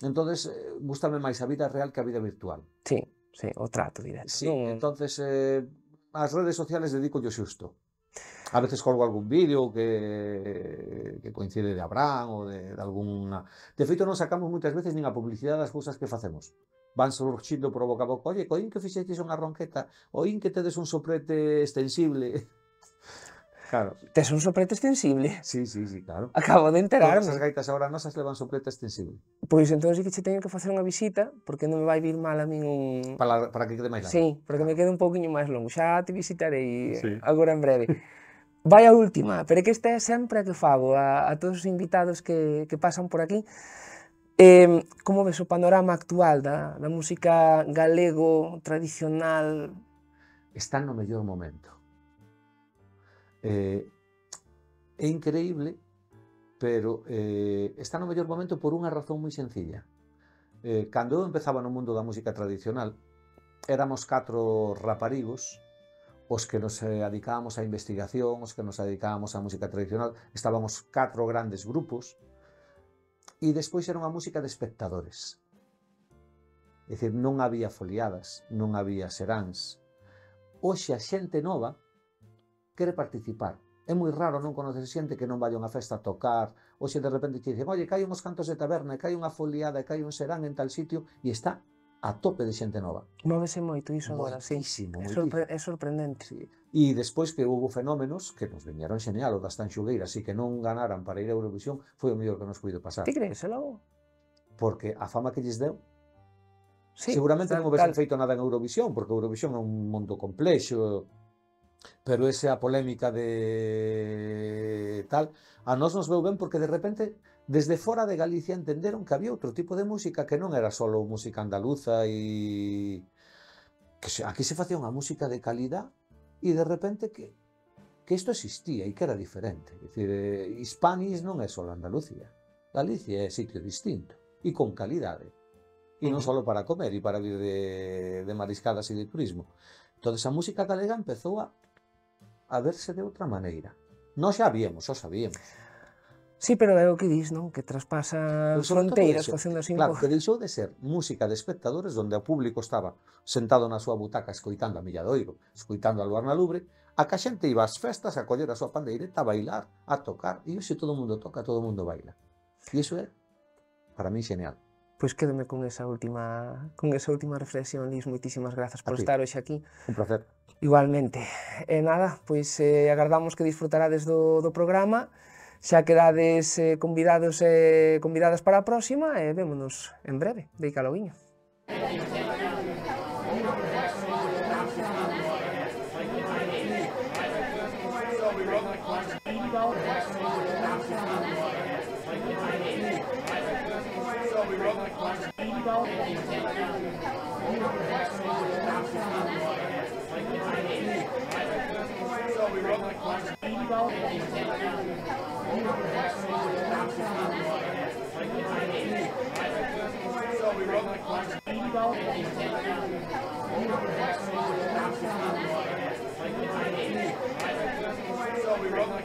Entonces, eh, gústame máis a vida real que a vida virtual. Sí, sí, o trato directo. Sí, Non... entonces, eh, as redes sociales dedico yo xusto. A veces colgo algún vídeo que, que coincide de Abraham ou de, de alguna... De feito, non sacamos moitas veces nin a publicidade das cousas que facemos. Van surgindo por boca a boca. Oye, coín que fixeches unha ronqueta, oín que tedes un soprete extensible. Claro. Tes un soprete extensible? Sí, sí, sí, claro. Acabo de enterarme. Todas as gaitas agora nosas levan soprete extensible. Pois entón sí que che teño que facer unha visita, porque non me vai vir mal a min un... Para, para que quede máis largo. Sí, porque me quede un pouquiño máis longo. Xa te visitarei sí. agora en breve. Vai a última, pero é que esta é sempre a que fago a, a todos os invitados que, que pasan por aquí. Eh, como ves o panorama actual da, da música galego tradicional? Está no mellor momento. Eh, é increíble, pero eh, está no mellor momento por unha razón moi sencilla. Eh, cando eu empezaba no mundo da música tradicional, éramos catro raparigos os que nos dedicábamos á investigación, os que nos dedicábamos á música tradicional, estábamos catro grandes grupos, e despois era unha música de espectadores. É dicir, non había foliadas, non había seráns. Hoxe a xente nova quere participar. É moi raro non conocer xente que non vai a unha festa a tocar, hoxe de repente te dicen, oye, que hai uns cantos de taberna, que hai unha foliada, que hai un serán en tal sitio, e está a tope de xente nova. Móvese moito iso agora, sí. Moitísimo, É, sorpre é sorprendente. Sí. E despois que houve fenómenos que nos viñeron xeneal, o das Tanxugueiras, e que non ganaran para ir a Eurovisión, foi o mellor que nos puido pasar. Ti crees, logo? Porque a fama que lles deu, sí, seguramente tal, non houvesen tal. feito nada en Eurovisión, porque Eurovisión é un mundo complexo, pero esa polémica de tal, a nós nos veu ben porque de repente desde fora de Galicia entenderon que había outro tipo de música que non era só música andaluza e que se, aquí se facía unha música de calidad e de repente que que isto existía e que era diferente. É dicir, eh, Hispanis non é só Andalucía, Galicia é sitio distinto e con calidade. E non só para comer e para vir de, de mariscadas e de turismo. Entón, a música galega empezou a, a verse de outra maneira. Nós xa víamos, xa sabíamos. Sí, pero é o que dis, non? Que traspasa fronteiras facendo así un claro, pouco. que deixou de ser música de espectadores onde o público estaba sentado na súa butaca escoitando a Milladoiro, escoitando a Luarna Lubre, a que a xente iba ás festas a coller a súa pandeireta, a bailar, a tocar, e hoxe todo o mundo toca, todo o mundo baila. E iso é, para mí, genial. Pois quédome con esa última con esa última reflexión, Lis, moitísimas grazas por estar hoxe aquí. Un placer. Igualmente. E nada, pois eh, agardamos que disfrutarades do, do programa, xa quedades eh, convidados e eh, convidadas para a próxima e vémonos en breve. Deica loguiño. So we run like